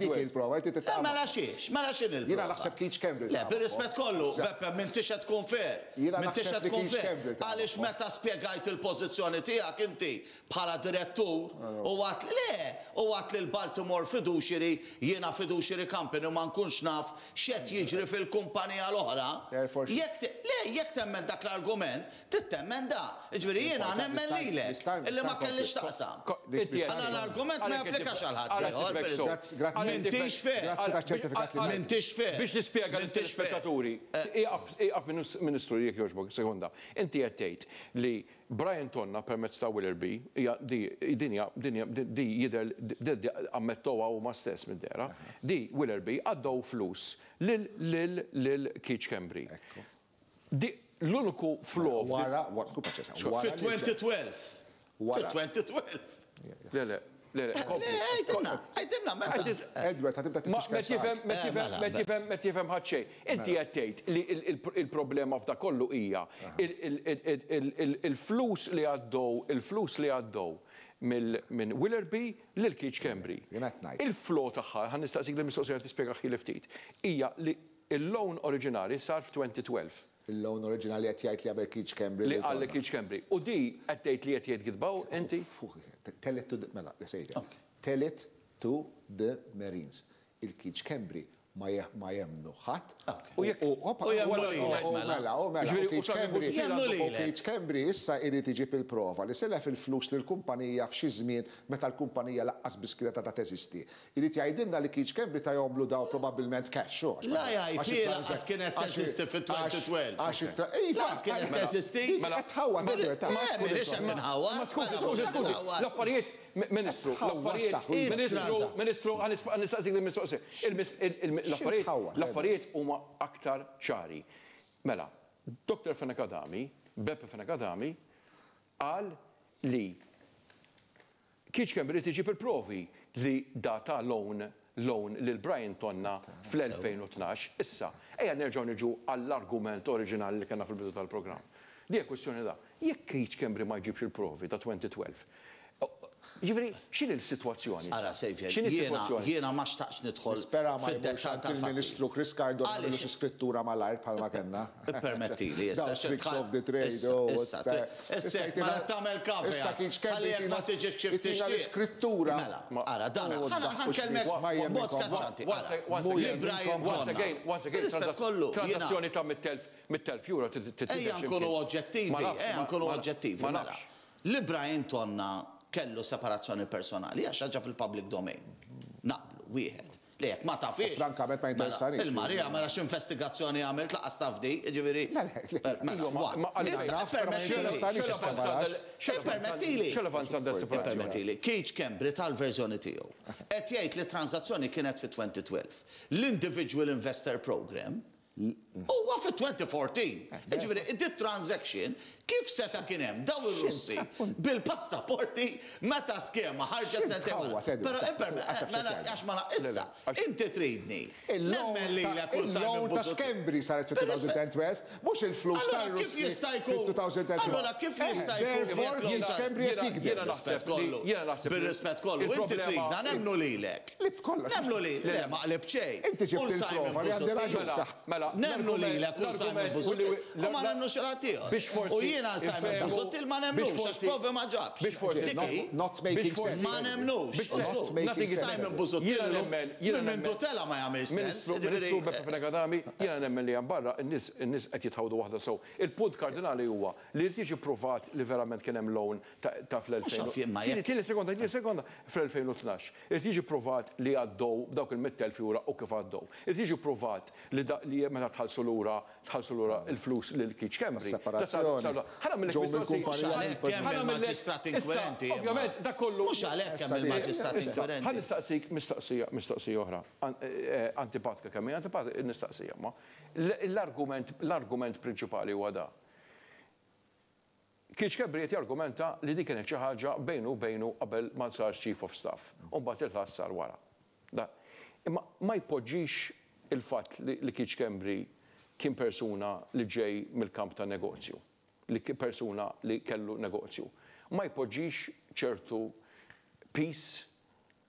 Dik il-prova, jrid jiltaqa' Mela xiex, mela x'in il-prova. Jiena naħseb Keith Schembri. Le, bir-rispett kollu, Beppe, m'intix qed tkun fair. Jiena M'intix naħseb qed li tkun Keith fair. Schembri ta' Għaliex magħhom. meta spjegajt il-pożizzjoni tiegħek inti bħala direttur u għat le, u għat li l-Baltimore Fiduciary, jiena Fiduciary Company u ma nkunx naf x'qed jiġri fil-kumpanija l-oħra. Therefore, Jekk te- le, jekk temmen dak l-argument, tittemmen da. Jiġifieri jiena nemmen lilek illi ma kellix taqsam. Għala l-argument ma japplikax għal ħadd ieħor, per eżempju. Grazzi. M'intix fair. Grazzi taċ-ċertifikat li M'intix fair. Biex nispjega M'intix fair. lill-telespettaturi, ieqaf Ministru jekk jogħġbok, sekonda. Inti qed tgħid li Brian Tonna permezz ta' Willerby, hija di dinja dinja di jidher di ammettoha huma stess mid-dera, di Willerby għaddew flus lil lil lil Keith Schembri. Di l-uniku flow Wara, wara, kun paċesa. Fi twenty twelve. Fi Wara. twenty twelve. Le, le, le, le, kompli. Le, għajdilna, għajdilna, meta. Edward, ħa tibda Ma tifixkel tifhem, ma Eh, tifhem, mela, ma tifhem, ma tifhem ħadd xejn. Inti qed tgħid li il-problema f'da kollu hija il-flus li għaddew, il-flus li għaddew minn Willerby lil Keith Schembri. Jien qed ngħid. Il-flow tagħha, ħa nistaqsik li mistoqsija tispjega ħili ftit, hija li il-loan oriġinali sar f'twenty twelve. Il-loan oriġinali qed jgħid li qabel Keith Schembri. Li qal li Keith Schembri. U di qed tgħid li qed jgħid gidbaw inti? Tell it to the, mela, sejja. Tell it to the Marines. Il-Keith Schembri ma jemnu ħadd. U jekk U hoppa, U jemnu u lilek, u mela. mela, u mela, Ġifieri, u Keith u Simon Schembri- Busuttil Jemnu u lilek. Keith Schembri issa irid iġib il-prova li selef il-flus lill-kumpanija f'xi żmien meta l-kumpanija laqqas biss kienet għadha teżisti. Irid jgħidilna li Keith Schembri ta' jomlu daw probabbilment cash, u għax La ma- I P għax il-transac- laqqas kienet għax teżisti fi twenty twelve. għax il-tra- Iva, Laqqas kienet mela, teżisti. dik qed tħawwad, Mela, Edward, ta' Le, m'iniex qed inħawwad. Ma skużi, Mela, skużi, mhux qed skużi. inħawwad. L-affarijiet Ministru, l-affarijiet, Ministru, Ministru, nistaqsik il-mistoqsija. L-affarijiet, l-affarijiet huma aktar ċari. Mela, Doktor Fenech Adami, Beppe Fenech Adami, qal li Keith Schembri tiġi il-provi li data loan loan lil Brian Tonna fl-elfejn u tnax. Issa, ejja nerġgħu niġu għall-argument oriġinali li kellna fil-bidu tal-programm. Di kwestjoni da, jekk Keith Schembri ma jġibx il-provi ta' twenty twelve, ġifieri, x'inhi l-sitwazzjoni? Ara, Xavier, X'inhi s-sitwazzjoni? jiena ma xtaqx nidħol Nispera ma fid-dettall jmurx għand tal-fatti. il-Ministru Chris Cardona Għaliex? xi skrittura malajr bħalma kellna. Permettili, issa Dawn xi tricks tħall- of the trade, issa, oh, issa, issa, issa, issa ma jtina- tagħmel kafe, issa kien x'kemm ħalli jekk ma jtina- tiġix xi jtina tixtieq. l-iskrittura. Mela, ara, dan, Oh, ħana daħħu xi ħankellmek ma jemminkom. b'mod skaċċanti, Once ara. again, once Mu again, Li Brian once Tonna. again, once again, Bir-rispett kollu, jiena- transazzjoni ta' mittelf, mittelf euro titidher Ejja x'imkien. nkunu oġġettivi, Ma nafx, ejja ma- nkunu ma- oġġettivi, ma mela. nafx. Li Brian Tonna kellu separazzjoni personali, għax ħaġa fil-public domain. Naqblu, wieħed. Li jekk ma tafix. Frankament ma jinteressanix. Mela, il-Marija, mela x'investigazzjoni għamilt laqas taf di, jiġifieri. Le, le, le. Mela, Iva, ma- one. ma- għalli Issa, naf, però ma permettili. jinteressanix is-separax. Permettili. X'relevanza għandha s-separazzjoni? Permettili, Keith Schembri tal-verżjoni tiegħu. Qed jgħid li transazzjoni kienet fi twenty twelve. L-Individual Investor Program huwa fi twenty fourteen. Jiġifieri, dit transaction kif seta' kien hemm daw ir-Russi bil-passaporti meta skema ħarġet sentejn wara. X'intħawwa, Teddy? Però imperme, Għasaf mela, x'qed għax ma la- issa, Le, le, inti tridni. Il-loan Nemmen lilek ta' u Simon il-loan ta' Busuttil. Schembri saret fi Per rispett- twenty twelve, mhux il-flus Allora ta' kif Russi jista' jkun? fi twenty twelve. Allora kif jista' jkun? Therefore, Jekk Keith l-loan Schembri qed Jiena- jikdeb. jiena naħseb Bir-rispett kollu. li- jiena naħseb li Bir-rispett kollu. Inti il-problema- tridna nemmnu lilek. Qlibt kollox. Nemmnu lilek. Le, ma qlib xejn. Inti ġibt U l-Simon il-prova li għandi Busuttil. raġun. Mela, mela, Nemmnu l-argument- lilek u Simon l-argument u Busuttil. li- U ma nemmnu xi ħadd ieħor. Biex forsi U jiena Simon infehmu- Busuttil ma biex nemmnux għax forsi- provi ma ġabx. biex forsi Dik hi? Not making Biex forsi- sense. Ma nemnux. Biex- U żgur. Not Nothing is- Simon Busuttil Jiena illum nemmen, jiena minn nemmen. mindu tela ma jagħmel sens. Ministru, Jiġifieri, Ministru Beppe Fenech Adami, jiena nemmen li hemm barra n-nies in-nies qed jitħawdu waħda sew. Il-punt kardinali huwa li jrid jiġi pruvat li verament kien hemm loan ta' ta' fl-elfejn. Mhux għaf jien ma Tieni jekk- tieni sekonda, tieni sekonda, fl-elfejn u tnax. Irid jiġi pruvat li għaddew dawk il-mittelf euro u kif għaddew. Irid jiġi pruvat li da- li meta tħallsu lura, tħallsu lura il-flus lil Keith Schembri. Separazzjoni. Ħana mill-ek Ġew mistoqsija. mill-kumpanija Mhux għalhekk hemm Ħana mill-ek- il-maġistrat Issa, inkwirenti, imma. Ovvjament, dak kollu. Mhux għalhekk hemm Issa, il-maġistrat Issa, inkwirenti. ħa nistaqsik mistoqsija, mistoqsija oħra. An- eh, Antipatika kemm hija antipatika, nistaqsija ma. L-argument, l-argument prinċipali huwa da. Keith Schembri qed jargumenta li dik kienet xi ħaġa bejnu u bejnu qabel ma sar Chief of Staff. U mbagħad il-ħlas sar wara. Da. Imma ma jpoġġix il-fatt li, li Keith Schembri kien persuna li ġej mill-kamp ta' negozju, li kien persuna li kellu negozju. Ma jpoġġix ċertu peace,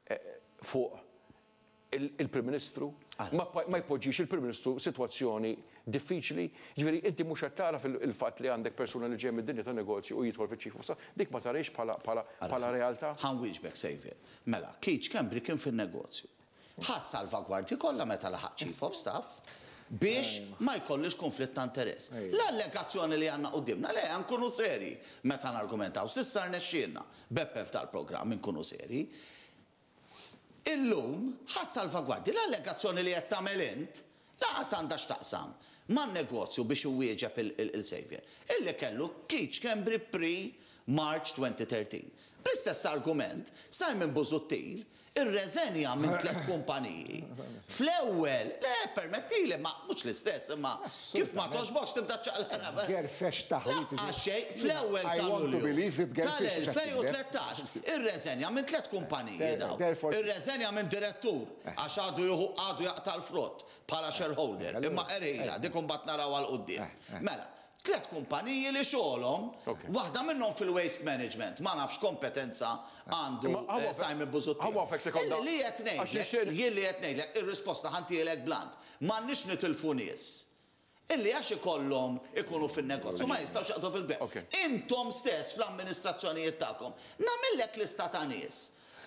eh, fuq il-, il-Prim Ministru, ma pa-, ma jpoġġix il-Prim Ministru situazzjoni diffiċli. Ġifieri, inti mhux qed tara fil-fatt li għandek persuna li ġej mid-dinja ta' negozju u jidħol fiċ-Chief of Staff, dik ma tarix bħala, bħala, bħala realtà. Ħa nwieġbek, Xavier. Mela, Keith Schembri kien fin-negozju. Ħa salvagwardji kollha meta laħaq Chief of Staff biex ma jkollix konflitt ta' interess. L-allegazzjoni li għandna qudiemna, le, nkunu seri meta nargumentaw. S'issa rnexxielna, Beppe f'dal-programm nkunu seri. Illum ħa salvagwardji l-allegazzjoni li qed tagħmel int laqas għandha x'taqsam man-negozju biex iwieġeb il-, il-, il-Xavier. Illi kellu Keith Schembri pre-March twenty thirteen. Bl-istess argument, Simon Busuttil irreżenja minn tliet kumpaniji. Fl-ewwel, le, permettili, ma mhux l-istess, imma kif ma toġbokx tibda ċaqlera. Gerfex taħwit. Laqqa xejn, fl-ewwel I ta' want to Lulju believe that Gerfex mhux qed tal-elfejn u tlettax irreżenja minn tliet kumpaniji daw. Therefore- Irreżenja minn direttur għax għadu juhu għadu jaqta' l-frott bħala shareholder. Imma erejla, dik imbagħad naraw għal quddiem. Mela, tliet kumpaniji li xogħolhom, Ok. waħda minnhom fil-waste management, ma nafx kompetenza għandu, Imma eh, għawa Simon Busuttil. għawa fek sekonda. Illi li qed Għax ngħidlek, ix-xejn- jien li qed ngħidlek, ir-risposta ħantielek blant. M'għandniex nitilfu nies. Illi għax ikollhom ikunu fin-negozju, ma jistgħux jaqdu fil-gvern. Ok. Intom stess fl-amministrazzjonijiet tagħkom, nagħmillek lista ta' nies.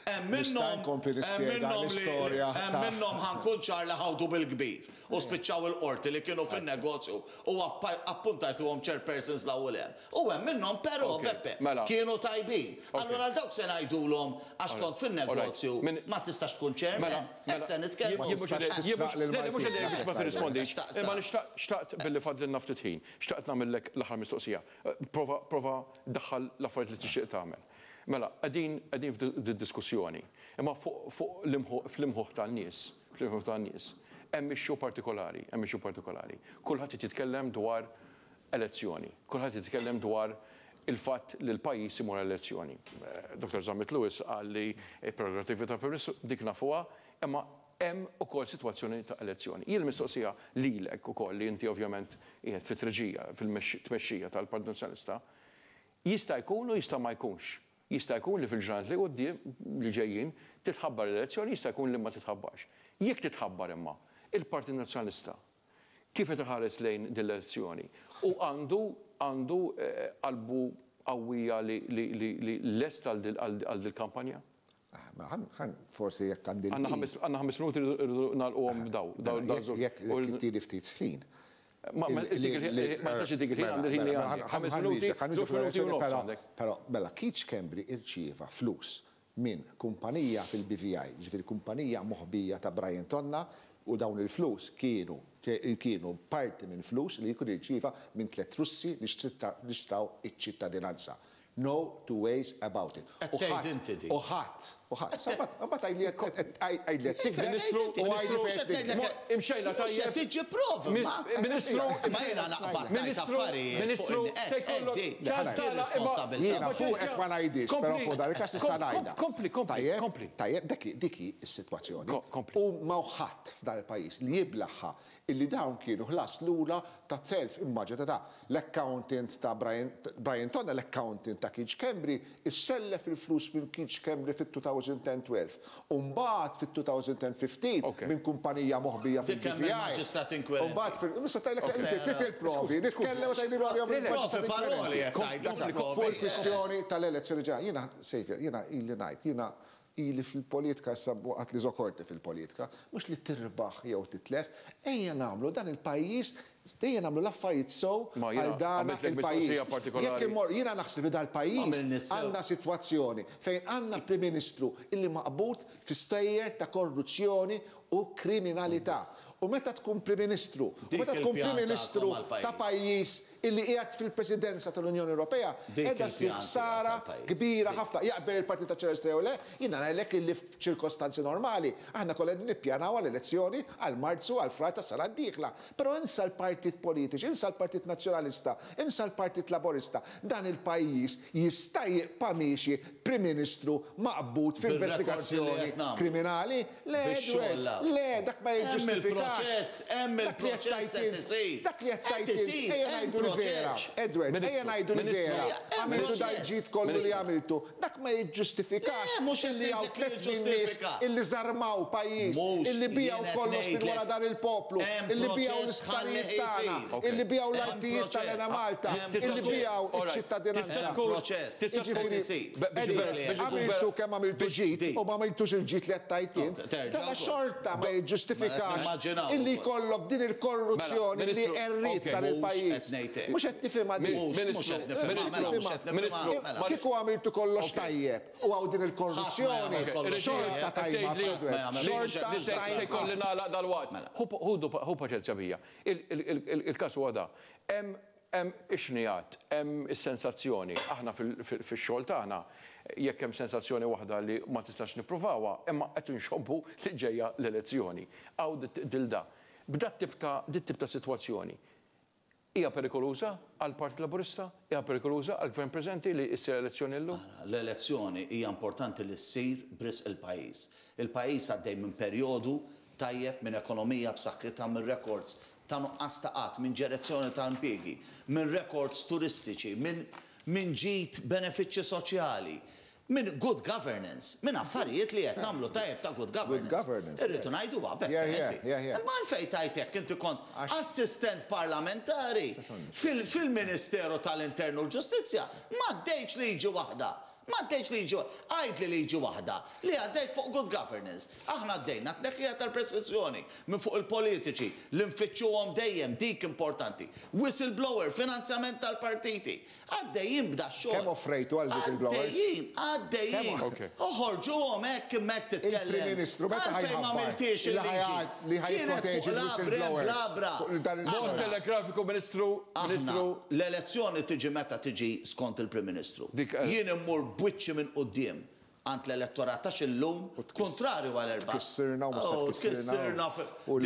Hemm Nista' minnhom nkompli hemm nispjega minnhom li- l-istorja hemm ta' minnhom ħankun ċar li ħawdu bil-kbir u spiċċaw il-qorti li kienu fin-negozju u appa-, appuntajtuhom chairpersons l-ewwel hemm. U hemm minnhom però, Ok, Beppe, mela. kienu tajbin. Ok. Allura dawk se ngħidulhom għax kont fin-negozju Alright. Min- ma tistax tkun chairman, Mela, hekk se nitkellmu. Jien mhux tistax jien mhux- tisraq lil le, le, mhux Maltin. għedin biex ma tirrispondix. Xtaqsa. Imma li xtaqt, xtaqt billi fadlilna ftit ħin, xtaqt nagħmellek l-aħħar mistoqsija. Prova, prova daħħal l-affarijiet li tixtieq tagħmel. Mela, qegħdin qegħdin f'diskussjoni. Imma fuq fl-imħuħ tan-nies, fl-imħuħ tan-nies, hemm issue partikolari, hemm issue partikolari. Kulħadd jitkellem dwar elezzjoni, kulħadd jitkellem dwar il-fatt li l-pajjiż imur elezzjoni. Doktor Zammit Lewis qal li prerogattivi ta' Prim Ministru dik nafuha, imma hemm ukoll sitwazzjoni ta' elezzjoni. Jien mistoqsija lilek ukoll li inti ovvjament qiegħed fit-treġija, fil-tmexxija tal-Partit Nazzjonalista, jista' jkun u jista' ma jkunx. Jista' jkun li fil-ġranet li quddiem li ġejjin titħabbar l-elezzjoni, jista' jkun li ma titħabbarx. Jekk titħabbar imma, il-Partit Nazzjonalista kif qed iħares lejn din l-elezzjoni u għandu għandu qalbu qawwija li lest għal dil-kampanja? Ħan forsi jekk għandi. Għandna ħames minuti nagħlquhom daw. Jekk ittili ftit ħin. Ma nistax dik il-ħin għandi il-ħin li għandi. Ħames minuti, żewġ minuti u nofs għandek. Però mela Keith Schembri irċieva flus minn kumpanija fil-B V I, ġifieri kumpanija moħbija ta' Brian Tonna, u dawn il-flus kienu kienu parti minn flus li jkun irċieva minn tliet Russi li xtraw iċ-ċittadinanza. No two ways about it. U ħadd, u ħadd, u ħadd. Sabbat għajli qed tikdeb u għajli Imxejna tajjeb. Tiġi prova. Ministru, ma jiena naqbad ngħid affarijiet. Ministru, se jkollok ċans responsabilità. Jiena fuqek ma ngħidix, però fuq dan il-każ tista' ngħidha. Kompli, kompli, kompli. Tajjeb, dik hi s-sitwazzjoni. U ma ħadd f'dan il-pajjiż li jiblaħħa illi dawn kienu ħlas lura ta' self immaġina ta' l-accountant ta' Brian Tonna, l-accountant ta' Keith Schembri, issellef il-flus minn Keith Schembri fit-two thousand twelve. U mbagħad fit-two thousand fifteen minn kumpanija moħbija fil-B V I. Mbagħad fil-mista tajlek inti il-provi, nitkellem u tgħidli paroli fuq il-kwistjoni tal-elezzjoni ġenerali. Jiena Sejfja, jiena ili ngħid, jiena ili fil-politika issa waqt li żokorti fil-politika, mhux li tirbaħ jew titlef, ejja nagħmlu dan il-pajjiż, ejja nagħmlu l-affarijiet sew għal dan il-pajjiż. Jekk immor jiena naħseb li dal-pajjiż għandna sitwazzjoni fejn għandna Prim Ministru illi maqbud fi stejjer ta' korruzzjoni u kriminalità. U meta tkun Prim Ministru, u meta tkun Prim Ministru ta' pajjiż illi qiegħed fil-Presidenza tal-Unjoni Ewropea, qiegħda ssir ħsara kbira ħafna. Jaqbel il-Partit Nazzjonalista jew le, jiena ngħidlek illi f'ċirkostanzi normali aħna kollha nippjanaw għall-elezzjoni għal Marzu għal Frar tas-sena d-dieħla. Però insa l-partit politiċi, insa l-Partit Nazzjonalista, insa l-Partit Laburista, dan il-pajjiż jista' jibqa' miexi Prim Ministru maqbud f'investigazzjoni kriminali. Le, le, dak ma jiġġustifikax. Hemm il-proċess qed isir. Dak li qed tgħid, ejja ngħidu li vera. Edward, ejja ngħidu li vera. Għamiltu dal-ġid kollu li għamiltu. Dak ma jiġġustifikax illi hawn tliet min-nies illi żarmaw pajjiż, illi bijaw kollox minn wara dan il-poplu, illi bijaw l-isptarijiet tagħna, illi bijaw l-artijiet tal-Enemalta, illi bijaw iċ-ċittadinanza. Jiġifieri, għamiltu kemm għamiltu ġid u ma għamiltux il-ġid li qed tgħid int. Dan xorta ma jiġġustifikax illi jkollok din il-korruzzjoni li errit dan il-pajjiż. Mhux qed tifhimha din. Kieku għamiltu kollox tajjeb u hawn din il-korruzzjoni, xorta tajba. Xorta tajba. Se jkolli nagħlaq dal-waqt. Hu paċenzja bija. Il-każ huwa da. Hemm ix-xnijat, hemm is-sensazzjoni. Aħna fix-xogħol tagħna jekk hemm sensazzjoni waħda li ma tistax nippruvawha, imma qed inxobbu li ġejja l-elezzjoni. Hawn dilda. B'dat tip ta' dit tip ta' sitwazzjoni. Hija perikoluża għall-Partit Laburista? Hija perikoluża għall-Gvern preżenti li ssir elezzjoni llum? L-elezzjoni hija importanti li ssir b'risq il-pajjiż. Il-pajjiż għaddej minn perjodu tajjeb minn ekonomija b'saħħitha, minn records ta' nuqqas ta' qatt, minn ġenezzjoni ta' impjiegi, minn records turistiċi, minn minn ġid benefiċċji soċjali, minn good governance, minn affarijiet li qed nagħmlu tajjeb ta' good governance. Irridu ngħidu beppe. Imma għalfejn tajt hekk inti kont assistent parlamentari fil-Ministeru tal-Intern u l-Ġustizzja, ma għaddejtx liġi waħda. Ma għaddejtx liġi waħda. Għajd li liġi waħda li għaddejt fuq good governance. Aħna għaddejna tneħħija tal-preskrizzjoni minn fuq il-politiċi li nfittxuhom dejjem, dik importanti. Whistleblower, finanzjament tal-partiti. Għaddejjin b'da xogħol. Kemm offrejtu għal whistleblowers? Għaddejjin, għaddejjin. Oħorġuhom hekk imma hekk titkellem. Il-Prim Ministru meta Għalfejn ma għamiltix il-liġi? Li ħajproteġi l-whistleblowers. Mod telegrafiku, Ministru, Ministru. L-elezzjoni tiġi meta tiġi skont il-Prim Ministru. Jien immur b'wiċċi minn quddiem għand l-elettorat għax illum kontrarju għal erba'. Tkissirna u mhux se Tkissirna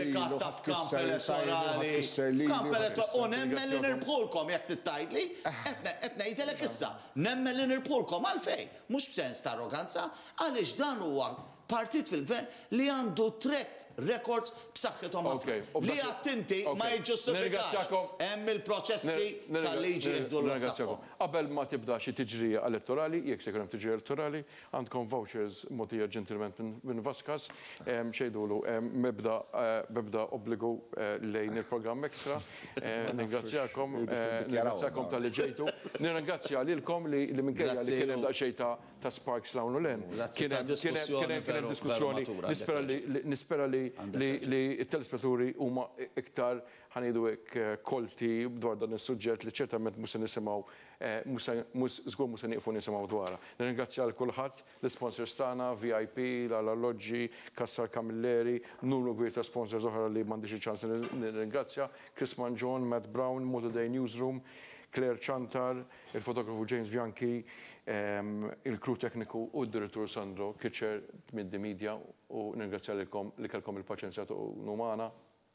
dekatta f'kamp elettorali. F'kamp elettorali. U nemmen li nirbħulkom jekk tittajtli, qed ngħidilek issa, nemmen li nirbħulkom għalfejn, mhux b'sens ta' arroganza, għaliex dan huwa partit fil-gvern li għandu track records b'saħħithom ħafna. Li għattinti ma jiġġustifikax. Hemm il-proċessi tal-liġi jieħdu l-tagħhom. Qabel ma tibda xi tiġrija elettorali, jekk se jkun hemm tiġrija elettorali, għandkom vouchers mogħtija ġentilment minn Vaskas, xejdulu mebda mebda obbligu lejn il-programm Extra. Ningrazzjakom, ningrazzjakom talli ġejtu. Nirringrazzja lilkom li minkejja li kien hemm daqsxejn ta' sparks l-hawn u l-hemm. Kien hemm diskussjoni. Nispera li nispera li li t-telespettaturi huma iktar ħa ngħidu hekk kolti dwar dan is-suġġett li ċertament mhux se nisimgħu mhux żgur mhux se nieqfu nisimgħu dwarha. Nirringrazzja lil kulħadd, l-isponsors tagħna, V I P, l-Alloġġi, Kassar Camilleri, numru kbir ta' sponsors oħra li m'għandix iċ-ċans nirringrazzja, Chris Mangion, Matt Brown, Motor Day Newsroom, Claire Chantar, il-fotografu James Bianchi, il-crew tekniku u d-direttur Sandro Kitcher minn The Media u nirringrazzja lilkom li kellkom il-paċenzja tkunu magħna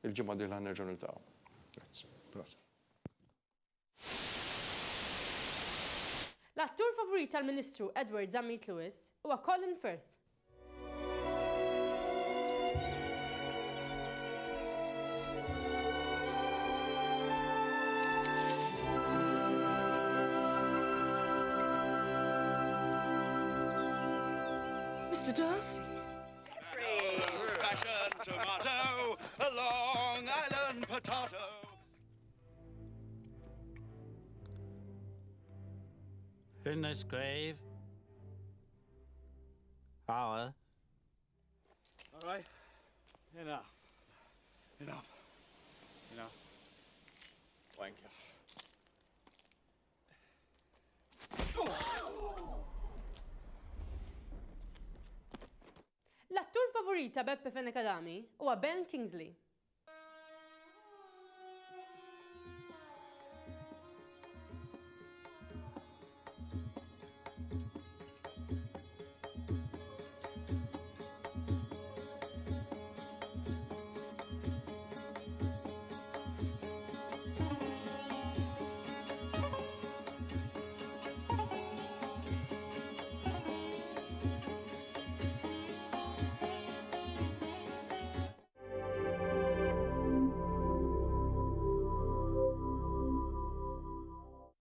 il-ġimgħa dieħla nerġgħu niltaqgħu. Grazzi. L-attur favorit tal-Ministru Edward Zammit Lewis huwa Colin Firth. Mister Darcy. Old-fashioned tomato, a Long Island potato. In this grave, hour. All right, enough, enough, enough. Thank you. L-attur favorit ta' Beppe Fenech Adami huwa Ben Kingsley.